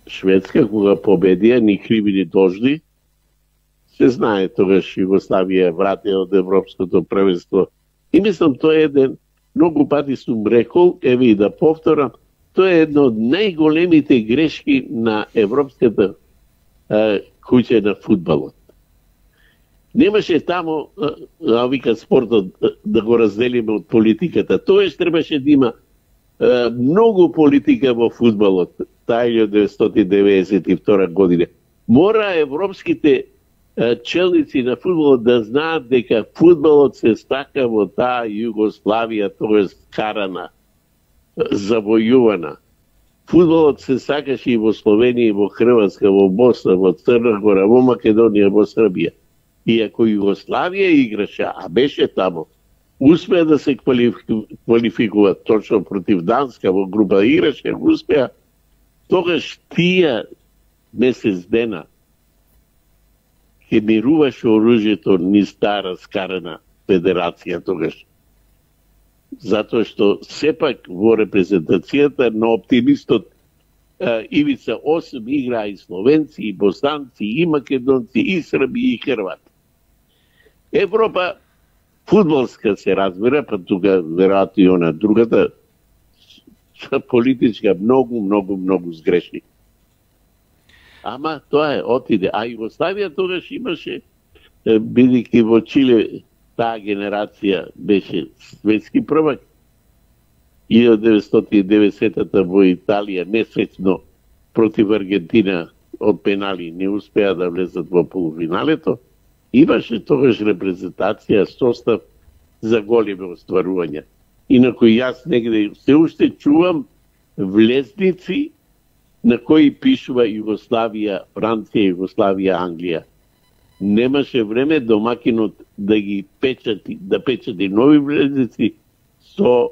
Шведска, кога победија, ни криви ни должни. Се знае, тогаш Југославија врати од Европското првенство. И мислам, тоа е еден, многу пати сум рекол, еве и да повторам, тоа е една од најголемите грешки на европската куќа на фудбалот. Немаше тамо, вика спортот, да го разделиме од политиката. Тоеш требаше да има многу политика во фудбалот, таа 1992 година. Мора европските челници на фудбалот да знаат дека фудбалот се стака во таа Југославија, тоест карана, завојувана. Фудбалот се сакаше и во Словенија, и во Хрватска, во Босна, во Црна Гора, во Македонија, во Србија. И ако Југославија играше, а беше тамо, успеа да се квалификува точно против Данска, во група играше, успеа, тогаш тие месец дена ќе мируваше оружјето низ таа раскарана федерација тогаш. Затоа што сепак во репрезентацијата на оптимистот Ивица 8 играа и словенци, и боснанци, и македонци, и срби, и хрвати. Европа фудбалска се разбира, па тука веројатно и она другата политичка многу сгрешни. Ама тоа е, отиде. А Југославија тогаш имаше, бидејќи во Чиле таа генерација беше светски првак. 1990-та во Италија несреќно против Аргентина од пенали не успеа да влезат во полуфиналето. имаше тогаш репрезентација, состав за големи остварувања. Инако јас негде се уште чувам влезници на кои пишува Југославија, Франција, Југославија, Англија. Немаше време домакинот да ги печати, да печати нови влезници со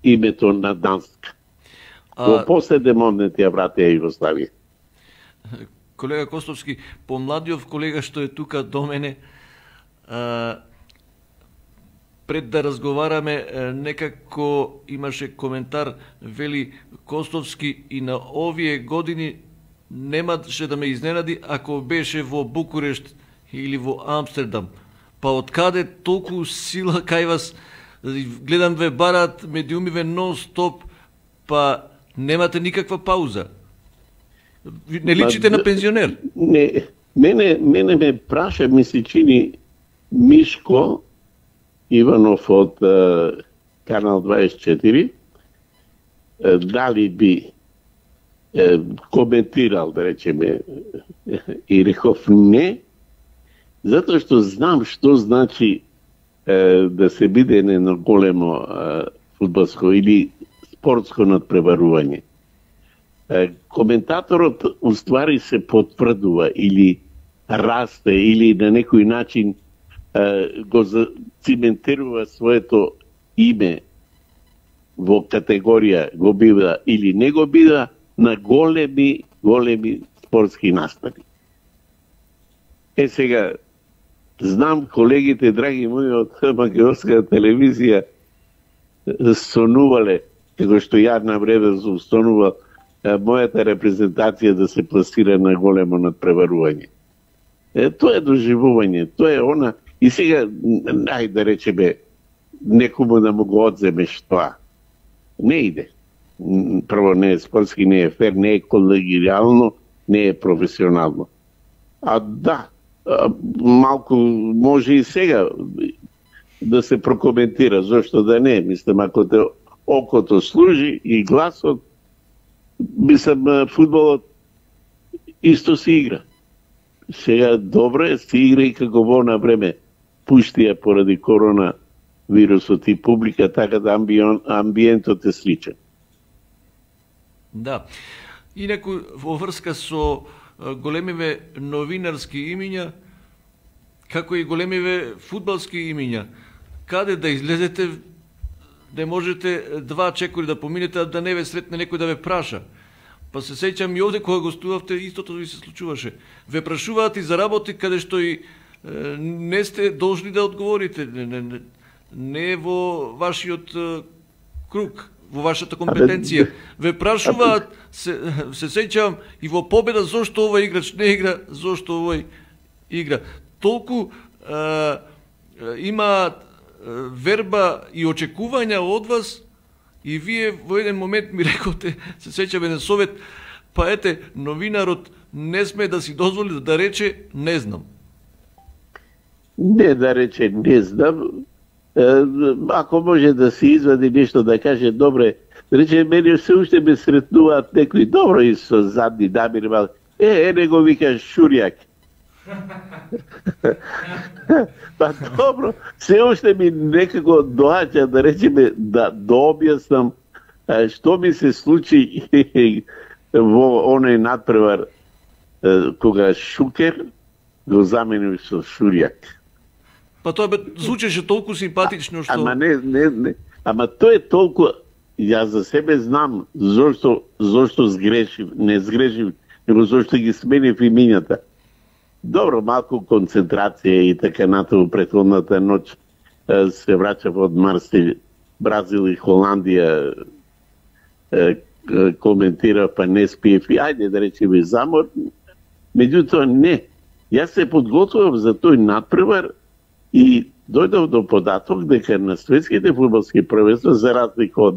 името на Данска. Во последен момент ја вратија Југославија. Колега Костовски, помладиот колега што е тука до мене, пред да разговараме, некако имаше коментар, вели Костовски, и на овие години немаше да ме изненади ако беше во Букурешт или во Амстердам. Па откаде толку сила кај вас? Гледам ве барат медиумиве нон-стоп, па немате никаква пауза. Не личите на пензионер. Не, мене ме праша, ми се чини, Мишко Иванов од Канал 24, дали би коментирал, да речеме, и реков не, затоа што знам што значи да се биде едно големо фудбалско или спортско надпреварување. Коментаторот уствари се потврдува или расте или на некој начин го циментирува своето име во категорија го бива или не го бива на големи спортски настани. Сега, знам колегите, драги мои, од македонска телевизија сонувале, како што ја на време сонувал, мојата репрезентација да се пласира на големо надпреварување. Тоа е доживување, тоа е она. И сега, нај да речеме, некому да му го одземеш тоа. Не иде. Прво, не е спортски, не е фер, не е колегијално, не е професионално. А да, малку може и сега да се прокоментира, зашто да не. Мислам, ако те окото служи и гласот, мислам, фудбалот исто се игра. Сега добро е, се игра и како во на време пуштија поради корона вирусот и публика, така да амбиентот е сличен. Да. Инаку, во врска со големиве новинарски имиња, како и големиве фудбалски имиња, каде да излезете, не можете два чекори да поминете, да не ве сретне некој да ве праша. Па се сеќам и овде кога гостувавте, истото ви се случуваше. Ве прашуваат и за работи каде што и не сте должни да одговорите. Не е во вашиот круг, во вашата компетенција. Ве прашуваат, се сеќавам, и во победа зошто овој играч не игра, зошто овој игра. Толку има верба и очекувања од вас, и вие во еден момент ми рековте, се сеќам еден совет, па ете, новинарот не сме да си дозволи да рече не знам. Не да рече не знам, ако може да се извади нешто да каже, добре, рече, мене се уште ме сретнуваат некои добро и со задни намери, не го вика Шурјак. Па добро, се уште ми некако доаѓа, да речеме, да објаснам што ми се случи во оној надпревар кога Шукер го замени со Шурјак. Па тоа звучеше толку симпатично што... Ама не. Ама тоа е толку... Јас за себе знам зошто сгрешив, не сгрешив, него зошто ги сменив имињата. Добро, малку концентрација и така натаму претходната ноќ се враќав од Марселј, Бразил и Холандија, коментира, па не спиев и ајде да речеме замор. Меѓутоа не. Јас се подготвував за тој надпревар и дојдов до податок дека на светските фудбалски првенства, за разлика од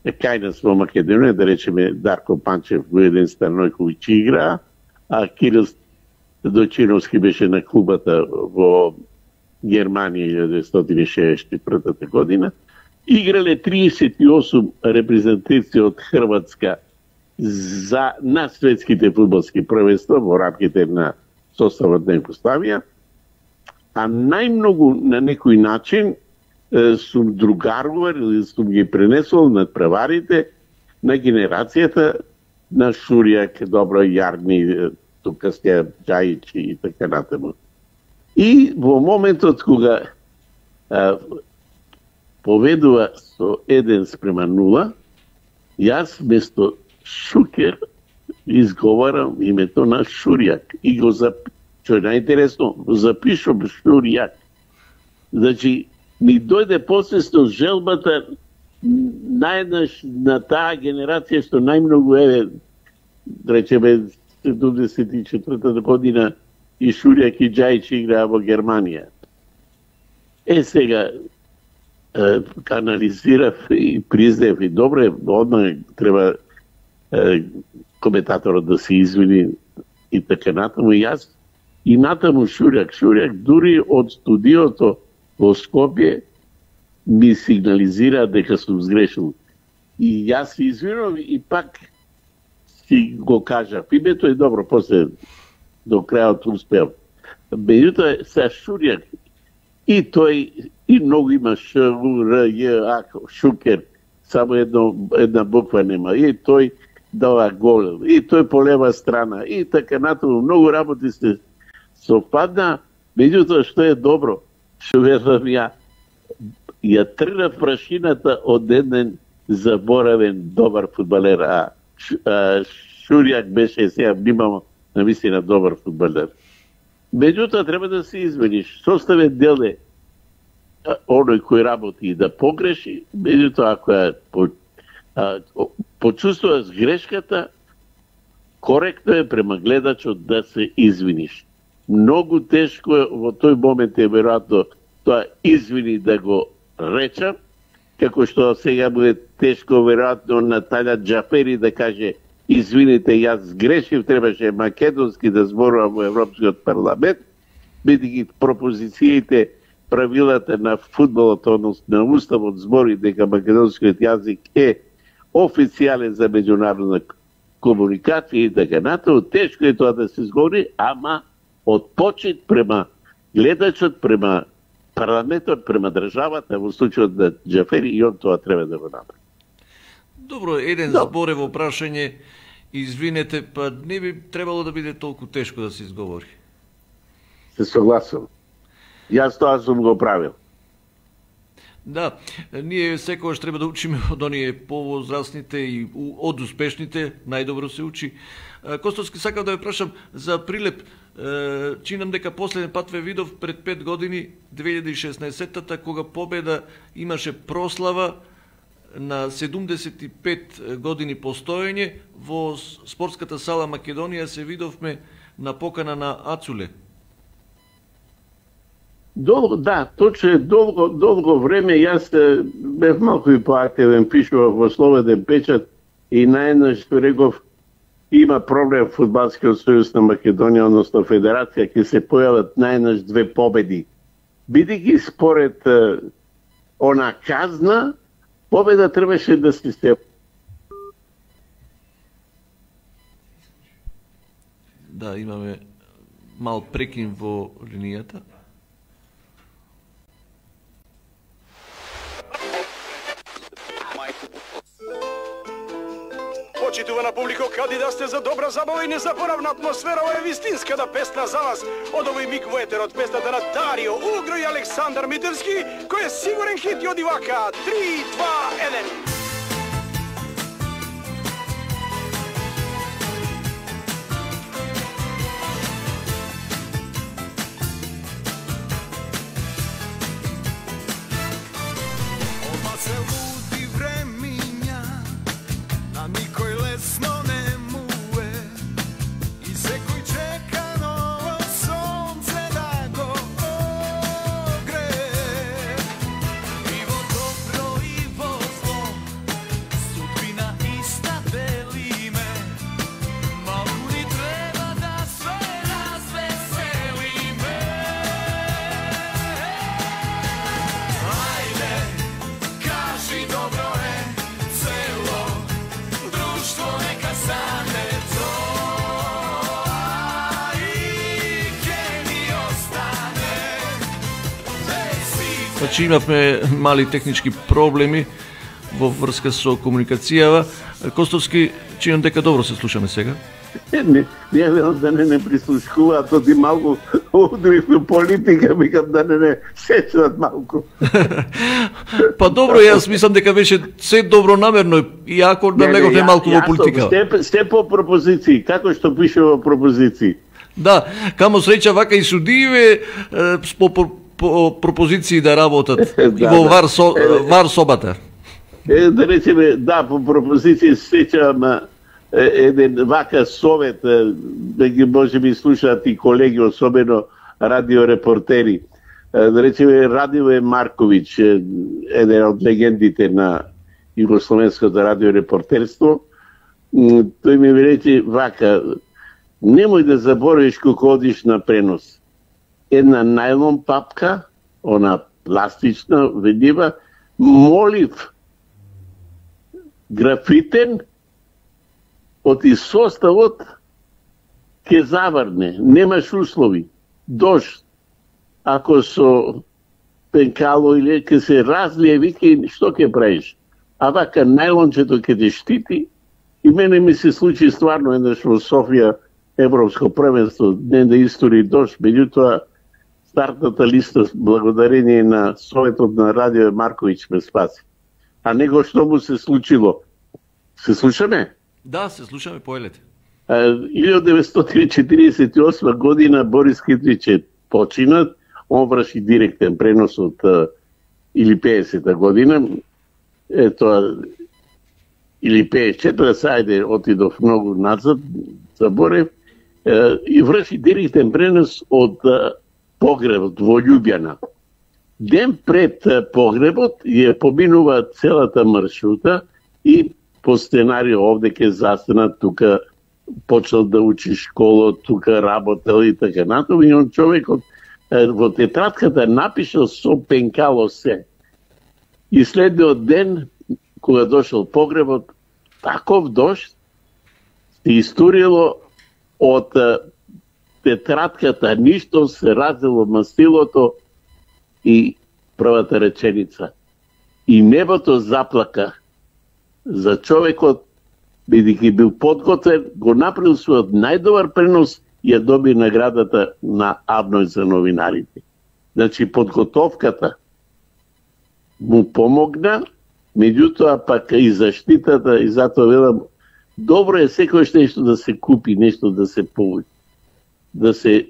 кај нас во Македонија, да речеме Дарко Панчев во еден Станојковиќ игра, а Кирил Дочиновски беше на клубата во Германија 1964 година. Играле 38 репрезентации од Хрватска на светските фудбалски првенства во рамките на составот на Југославија. а најмногу на некој начин сум другарувал или сум ги пренесол над преварите на генерацијата на Шурјак, Добро Јарни, тука сте Џајичи и така натаму. И во моментот кога поведува со 1:0, јас место Шукер изговарам името на Шурјак и го што е најинтересно, го запишам Шурјак. Значи, ми дојде посвесно желбата најднаш на таа генерација што најмногу речеме 74-та година и Шурјак и Џајич играа во Германија. Сега анализирав и признаев и добре, одмah треба коментаторот да се извини и така натаму. И јас и натаму Шурјак дури од студиото во Скопје ми сигнализира дека сум сгрешил. И јас се извинувам и пак си го кажав. Името е добро, после до крајот успеав. Меѓутоа, се Шурјак и тој и многу има Ш, Р, Ј, А, Шукер, само една буква нема. И тој дава гол, и тој по лева страна, и така натаму. Многу работи се совпадна, меѓутоа што е добро, што верувам ја тргнав прашината од еден заборавен добар фудбалер, а Шурјак беше сега внимамо навистина добар фудбалер. Меѓутоа треба да се измениш. Составен дел е оној кој работи и да погреши, меѓутоа ако почувствуваш грешката, коректно е према гледачот да се извиниш. Многу тешко е во тој момент е веројатно тоа извини да го речам, како што сега буде тешко веројатно на Таља Џафери да каже извините, јас грешив, требаше македонски да зборувам во Европскиот парламент, бидејќи пропозициите, правилата на фудбалот, односно на уставот збори дека македонскиот јазик е официјален за меѓународна комуникација и така натаму. Тешко е тоа да се зговори, ама од почит према гледачот, према парламентот, према државата, во случајот на Џафери, и он тоа треба да го направи. Добро, еден зборево прашање, извинете, па не би требало да биде толку тешко да се изговори. Се согласувам. Јас тоа сум го правил. Да, ние секогаш треба да учиме од оние повозрастните и од успешните, најдобро се учи. Костовски, сакам да ве прашам за Прилеп. Чинам дека последен пат ве видов пред 5 години, 2016-та, кога победа имаше прослава на 75 години постоење во спортската сала Македонија. Се видовме на покана на Ацуле. Да, точно е долго време. Јас бев малку и поактивен, пишував во Слободен печат и наеднаш реков има проблем Фудбалскиот сојуз на Македонија, односно федерација, ќе се појават наеднаш 2 победи. Бидејќи според она казна, победа требаше да се Да, имаме мал прекин во линијата. Почитувана публико, кади да сте за добра забава и незаборавна атмосфера, ова е вистинската песна за вас. Од овој миг во етерот песната на Дарио Угро и Александар Митевски, кој е сигурен хит и од Ивака. 3, 2, 1. Кажи Значи имавме мали технички проблеми во врска со комуникацијава. Костовски, чинам дека добро се слушаме сега. Не велам да не прислушкуваат, оти малку удривме политика, викам да не сечат малку. Па добро, јас мислам дека беше се добронамерно, иако да леговме малку во политика. Сте по пропозиции, како што пише во пропозиции. Да, камо среќа вака и судиеве по пропозиции да работат во вар собата. Да речеме, да, по пропозиции сеќавам еден вака совет, да ги може би слушаат и колеги, особено радиорепортери. Да речеме, Радиве Марковиќ, еден од легендите на југословенското радиорепортерство, тој ми рече вака: немој да заборавиш кога одиш на пренос. Една најлон папка, она пластична, видива, молив графитен, оти составот ќе заврне, немаш услови, дожд, ако со пенкало или ќе се разлие, вики, што ќе правиш? А вака најлончето ќе те штити. И мене ми се случи стварно еднаш во Софија Европско првенство, ден да истори дожд, меѓутоа стартната листа благодарение на Советот на Радиве Марковиќ ме спаси. А него што му се случило? Се слушаме? Да, се слушаме, поелете. 1948 година Борис Китрич е починат, он врши директен пренос од или 50-та година, ето или 54-та, сајде отидов многу назад, заборев, и врши директен пренос од погребот во Љубјана. Ден пред погребот ја поминува целата маршрута и по сценарио овде ќе застанат, тука почел да учи школа, тука работел и така натаму, и он човекот во тетратката напишал со пенкало се. И следниот ден, кога дошол погребот, таков дожд се истурило од тетратката, ништо се раздело мастилото и првата реченица. И небото заплака за човекот, бидејќи бил подготвен, го направил својот најдобар пренос и ја доби наградата на Авној за новинарите. Значи, подготовката му помогна, меѓутоа пак и заштитата, и затоа велам, добро е секојаш нешто да се купи, нешто да се получи, да се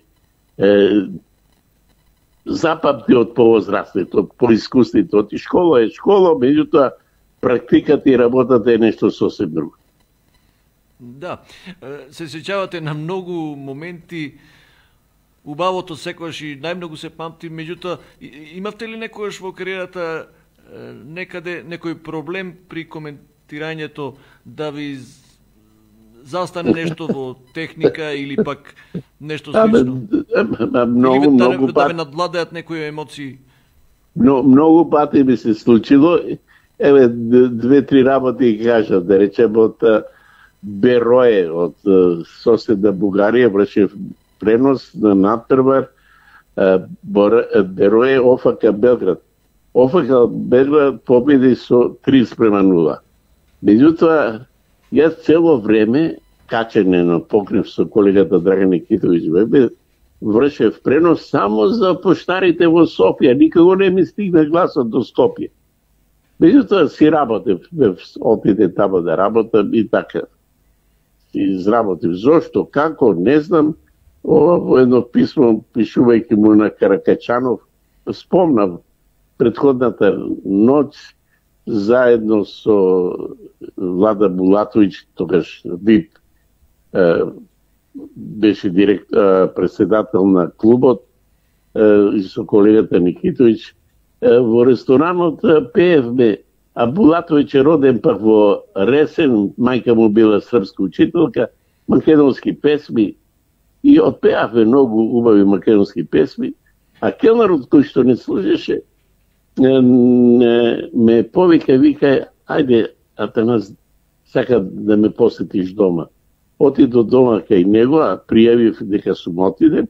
запамти од повозрастните, од поискусните, од школа е школа, меѓутоа практиката и работата е нешто сосем друго. Да, се сеќавате на многу моменти, убавото секогаш и најмногу се памти, меѓутоа имавте ли некојаш во кариерата некаде некој проблем при коментирањето да ви застане нешто во техника или пак нешто слично? Многу да ве надвладеат некои емоции? Многу пати ми се случило. Еве, 2-3 работи кажам, да речем од Берое, од соседна Бугарија, вршев пренос на надпревар Берое ОФК Белград. ОФК Белград победи со 3:0. Меѓутоа, јас цело време, качене на покрив со колегата Драган Никитовиќ, вршев пренос само за поштарите во Софија. Никаго не ми стигна гласот до Скопје. Меѓутоа си работев, отиде тамо да работам и така. Изработив. Зошто, како, не знам. Во едно писмо, пишувајќи му на Каракачанов, спомнав предходната ноќ заедно со Влада Булатовиќ, тогаш ВИП, беше председател на клубот, и со колегата Никитовиќ, во ресторанот пеевме, а Булатовиќ е роден пак во Ресен, мајка му била српска учителка, македонски песми, и отпеавме многу убави македонски песми, а келнарот кој што не служеше, ме повика, вика, ајде, Атанас, сака да ме посетиш дома. Отидо дома кај него, а пријавив дека сум отиден,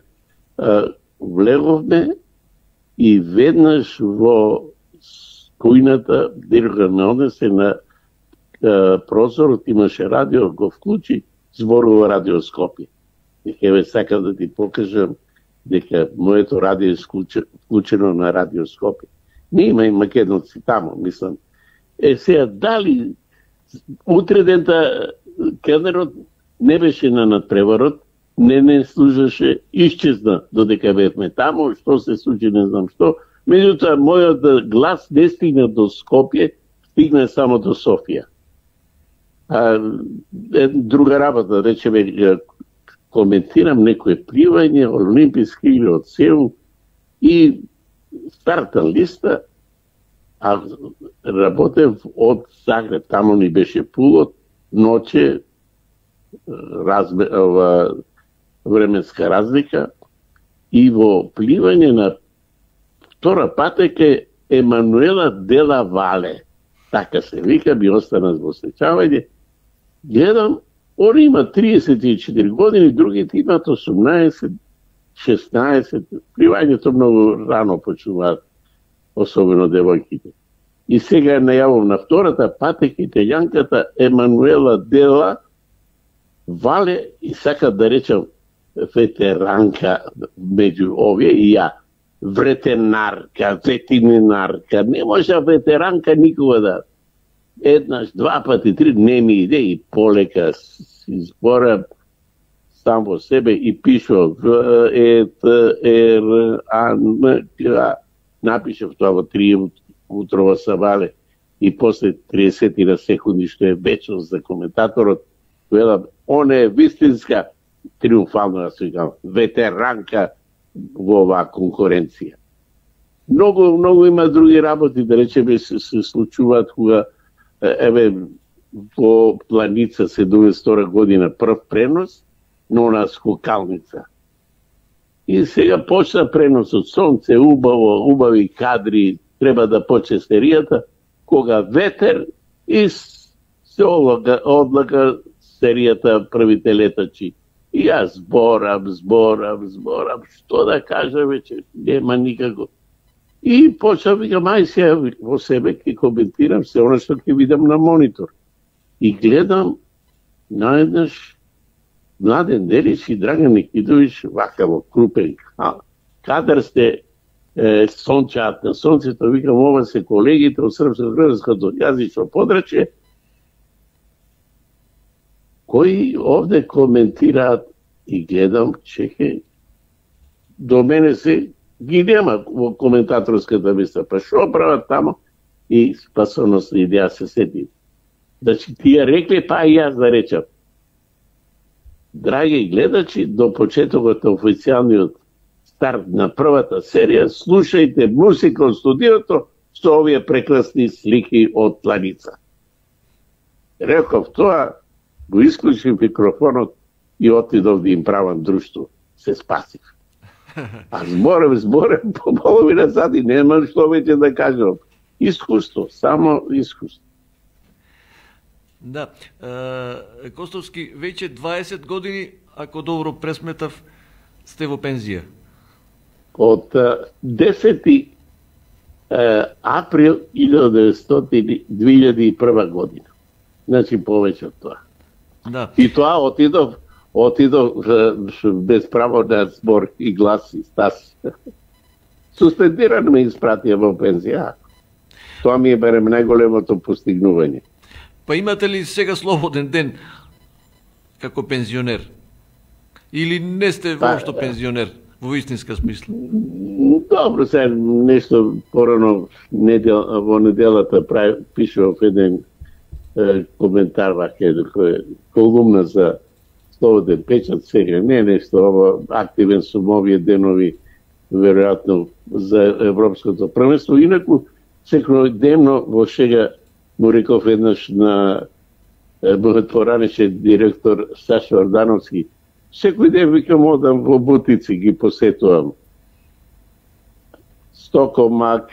влеговме и веднаш во кујната, дирка ме однесе на прозорот, имаше радио, го вклучи, зборува Радио Скопје. Еве сакам да ти покажам дека моето радио е вклучено на Радио Скопје. Не има и македонци тамо, мислам. Сега, дали утре дента кенерот не беше на надпреварот, не служеше, исчезна додека бевме тамо, што се случи, не знам што. Меѓутоа, мојот глас не стигна до Скопје, стигна само до Софија. Друга работа, речеме, коментирам некој пливање, олимписки или од Сеул и стартна листа, а работев од Загреб, тамо ни беше пулот, ноќе, временска разлика, и во пливање на втора патека Емануела Дела Вале, така се вика, би останат во сеќавање. Гледам, он има 34 години, другите имат 18, 16, пливањето многу рано почнуваат, особено девојките. И сега најавам на втората патека италијанката Емануела Дела Вале, и сакам да речам ветеранка меѓу овие, и ја вретенарка, ветеринарка, не може ветеранка никога да. Еднаш, два пати, три, не ми иде, и полека си зборам сам во себе и пишав напишав тоа во 3 утрова сабале, и после 30 на секунди, што е вечност за коментаторот, велам, он е вистинска, триумфално да се викам, ветеранка во оваа конкуренција. Многу има други работи, да речеме, се случуваат кога, еве, во Планица 72 година прв пренос, но на скокалница. И сега почна преносот, сонце, убави кадри, треба да почне серијата, кога ветер и се одлага серијата првите летачи. И јас зборам, што да кажа вече, нема никако. И почнав, викам, ај сега во себе ќе коментирам се оно што ќе видам на монитор. И гледам, наеднаш, Младен Делич и Драган Никидович, вака во крупен кадар сте, сончаат на сонцето, викам, ова се колегите од српско-грчкото јазично подрачје, кои овде коментираат, и гледам, чеке, до мене се ги нема во коментаторската миста, па шо прават тамо? И спасоносно идеја се сети. Значи, тие рекле, па и јас да речам. Драги гледачи, до почетокот на официјалниот старт на првата серија, слушајте музика од студиото со овие прекрасни слики од Планица. Реков тоа, го исклучив микрофонот и отидов да им правам друштво. Се спасив. А зборем по половина сати, нема што веќе да кажам. Искуство, само искуство. Да, Костовски, веќе 20 години, ако добро пресметав, сте во пензија. Од 10 април 2001 година. Значи повеќе од тоа. Да. И тоа отидов без право на збор и глас и стас. Суспендирано ме испратија во пензија. Тоа ми е барем најголемото постигнување. Па имате ли сега слободен ден како пензионер? Или не сте воопшто пензионер во истинска смисла? Добро, сега нешто порано во неделата пишував еден коментар вака колумна за слободен печат, сега не нешто ово активен сум овие денови веројатно за европското првенство. Инаку секојдневно во шега му реков еднаш на мојот поранешен директор Сашо Ордановски, секој ден викам одам во бутици, ги посетувам. Стокомак,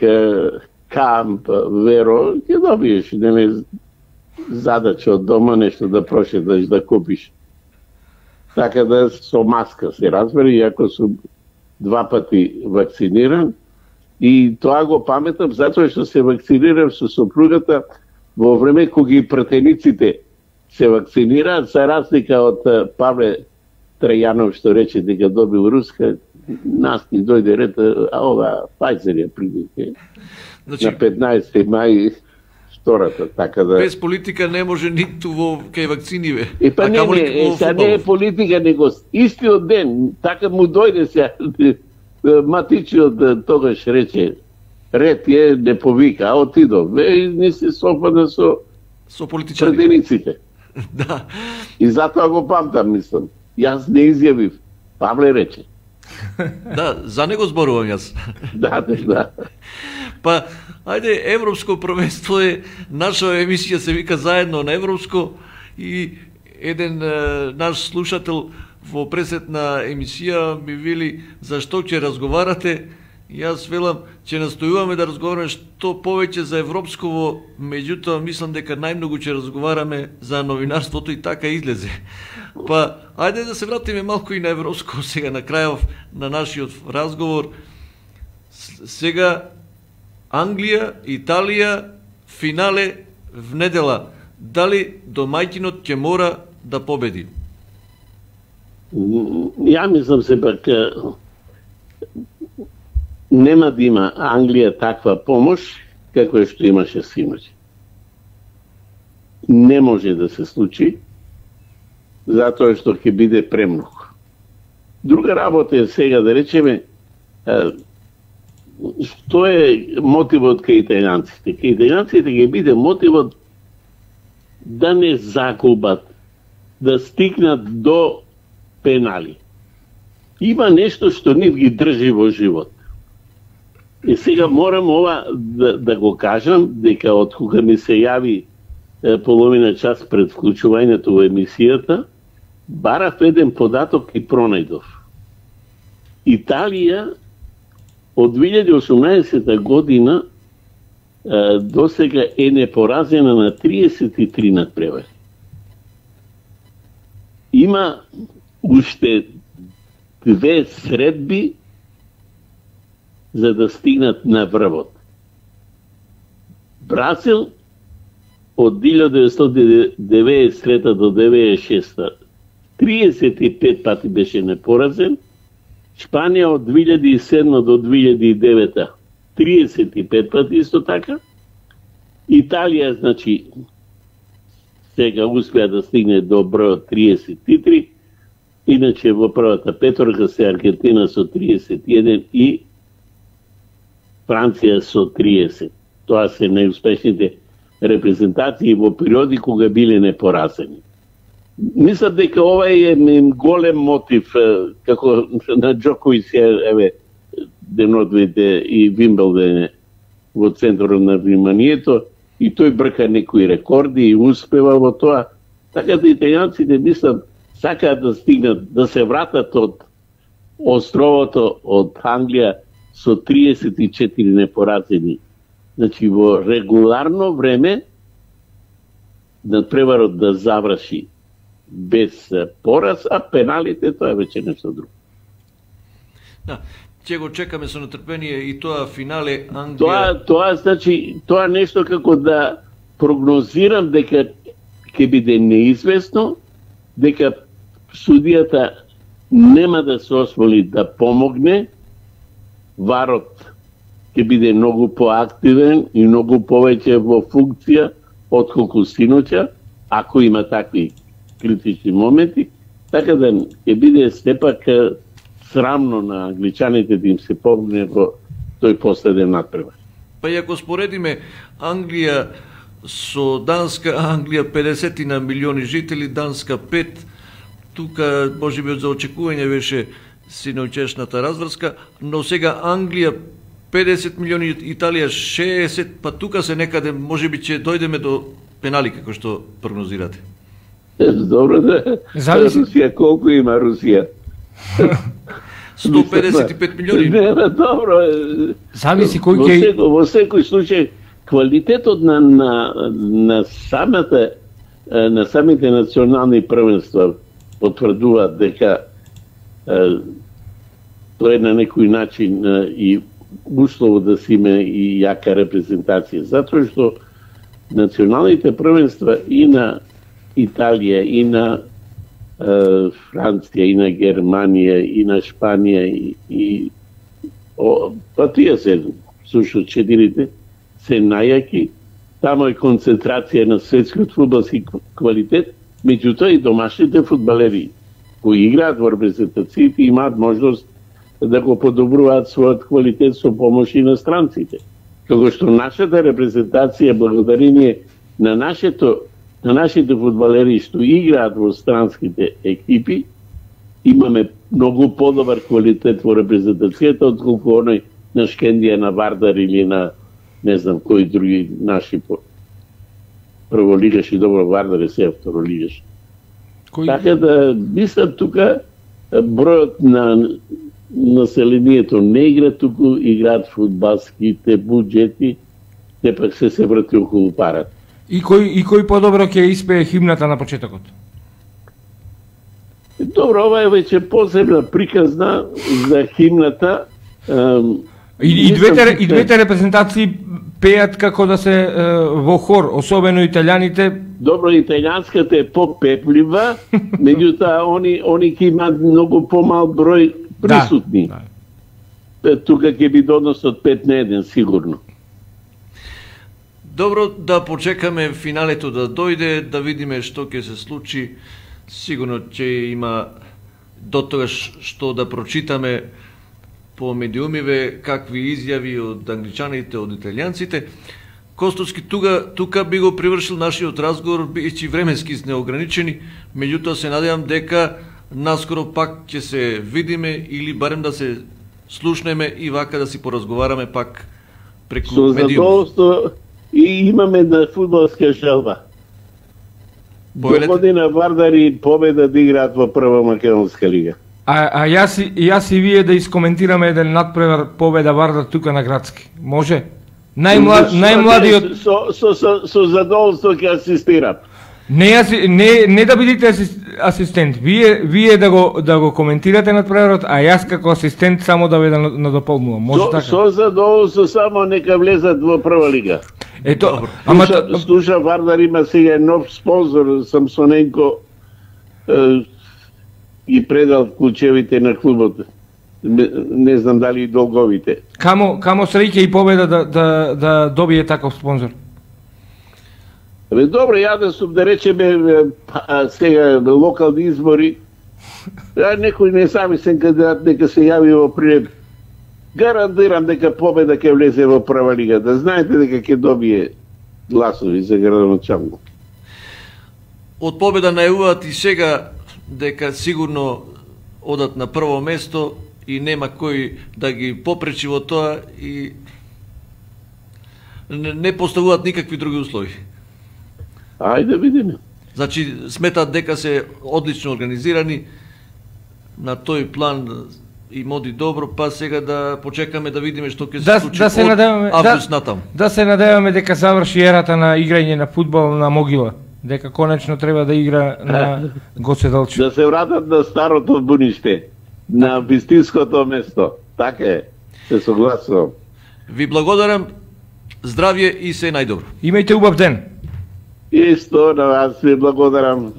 Камп, Веро, ќе добиеш задача од дома нешто да прошеташ, да купиш. Така да со маска се разбери, иако сум 2 пати вакциниран И тоа го паметам затоа што се вакцинирав со сопругата во време кога и пратениците се вакцинираат, за разлика од Павле Трајанов што рече дека добил руска, нас ни дојде ред, а ова Pfizer ја придике. Значи, на 15 мај втората, така да... Без политика не може ниту во кај вакциниве. Па не е политика, него истиот ден, така му дојде се, матичиот тогаш рече, ред е, не повика, а отидов. Не се сопада со политичари. Пратениците. Да. И затоа го памтам, мислам. Јас не изјавив. Павле рече. Да, за него зборувам јас. Да. Па, ајде, Европско првенство е, наша емисија се вика Заедно на Европско и еден наш слушател во пресетна емисија ми вели зашто ќе разговарате. Јас велам, ќе настојуваме да разговараме што повеќе за европсково, меѓутоа мислам дека најмногу ќе разговараме за новинарството и така излезе. Па, ајде да се вратиме малку и на европско сега на крајов на нашиот разговор. Сега Англија, Италија, финале в недела. Дали домаќинот ќе мора да победи? Ја мислам се пак нема да има Англија таква помош како што имаше синоќ. Не може да се случи, затоа што ќе биде премногу. Друга работа е сега да речеме што е мотивот кај италијанците. Кај италијанците ќе биде мотивот да не загубат, да стигнат до пенали. Има нешто што нив ги држи во живот. И сега морам ова да го кажам, дека од кога ми се јави половина час пред вклучувањето во емисијата, барав еден податок и пронајдов. Италија од 2018 година досега е непоразена на 33 надпревари. Има уште 2 средби за да стигнат на врвот. Бразил од 1993 до 1996 35 пати беше непоразен, Шпанија од 2007 до 2009 35 пати исто така, Италија, значи, сега успеа да стигне до бројот 33, иначе во првата петорка се Аргентина со 31 и Франција со 30. Тоа се најуспешните репрезентации во периоди кога биле непоразени. Мислам дека ова е голем мотив, како на Џоковиќ, еве, денодвите и Вимбелден во центарот на вниманието, и тој брка некои рекорди и успева во тоа. Така да италијанците, мислам, сакаат да стигнат, да се вратат од островото, од Англија, со 34 непоразени. Значи, во регуларно време надпреварот да заврши без пораз, а пеналите тоа е веќе нешто друго. Да, ќе го чекаме со нетрпение и тоа финале Англија. Тоа значи, тоа нешто како да прогнозирам дека ќе биде неизвестно, дека судијата нема да се осмели да помогне, варот ќе биде многу поактивен и многу повеќе во функција отколку синоќа, ако има такви критични моменти, така да ќе биде сепак срамно на англичаните да им се помогне во тој последен надпревар. Па и ако споредиме Англија со Данска, Англија 50 на милиони жители, Данска 5, тука можеби за очекување беше синоќешната разврска, но сега Англија 50 милиони, Италија 60, па тука се некаде можеби ќе дојдеме до пенали како што прогнозирате. Добро да. Русија колку има Русија? 155 милиони. Не, добро. Зависи кој ќе... Во секој случај, квалитетот на самите национални првенства потврдуваат дека тоа е на некој начин и услово да си има и јака репрезентација, затоа што националните првенства и на Италија, и на Франција, и на Германија, и на Шпанија, па тие се, сушто четирите, се најаки. Тамо е концентрација на светскиот фудбалски квалитет, меѓутоа и домашните фудбалери кои играат во репрезентациите имаат можност да го подобруваат својот квалитет со помош и на странците. Како што нашата репрезентација, благодарение на нашите фудбалери што играат во странските екипи, имаме многу подобар квалитет во репрезентацијата отколку оној на Шкендија, на Вардар или на не знам кои други наши прволигаши, добро Вардар е сега второлигаш. Така да, мислам тука бројот на населението не игра, туку играат фудбалските буџети, те пак се врати околу парат. И кој подобро ќе испее химната на почетокот? Добро, ова е веќе посебна приказна за химната. И двете репрезентации пеат како да се во хор, особено италијаните. Добро, италијанската е попеплива, меѓутоа они ќе имаат многу помал број присутни. Да. Тука ќе биде однос од 5-1 сигурно. Добро, да почекаме финалето да дојде, да видиме што ќе се случи. Сигурно ќе има дотогаш што да прочитаме по медиумиве, какви изјави од англичаните, од италијанците. Костовски тука би го привршил нашиот разговор, бидејќи временски неограничени, меѓутоа се надевам дека наскоро пак ќе се видиме или барем да се слушнеме и вака да си поразговараме пак преку медиум. Со задоволство и имаме на фудбалска желба. Догодина Вардар и Победа да играат во прва македонска лига. А јас и вие да искоментираме еден надпревар Победа Вардар тука на Градски. Може? Најмладиот со задоволство ќе асистирам. Не да бидете асистент, вие да го коментирате надпреварот, а јас како асистент само да ве надополнувам. Може така? Со задоволство, само нека влезат во прва лига. Ето, слуша Вардар има сега нов спонзор, Самсоненко ги предал ключевите на клубот. Не знам дали и долговите. Камо среќа и Победа да добие таков спонзор? Добро, ја да сум да речеме сега локални избори, некој независен кандидат нека се јави во прилеп. Гарантирам дека Победа ќе влезе во прва лига, да знаете дека ќе добие гласови за градоначалник. Од Победа најавуваат и сега дека сигурно одат на прво место и нема кој да ги попречи во тоа и не поставуваат никакви други услови. Ајде видиме. Значи сметаат дека се одлично организирани на тој план и моди добро, па сега да почекаме да видиме што ќе се случи од август натам. Да се надеваме дека заврши ерата на играње на фудбал на могила. Дека конечно треба да игра на Гоце Делчев. Да се вратат на старото буниште, на вистинското место. Така е, се согласувам. Ви благодарам, здравје и се најдобро. Имајте убав ден. Исто на вас ви благодарам.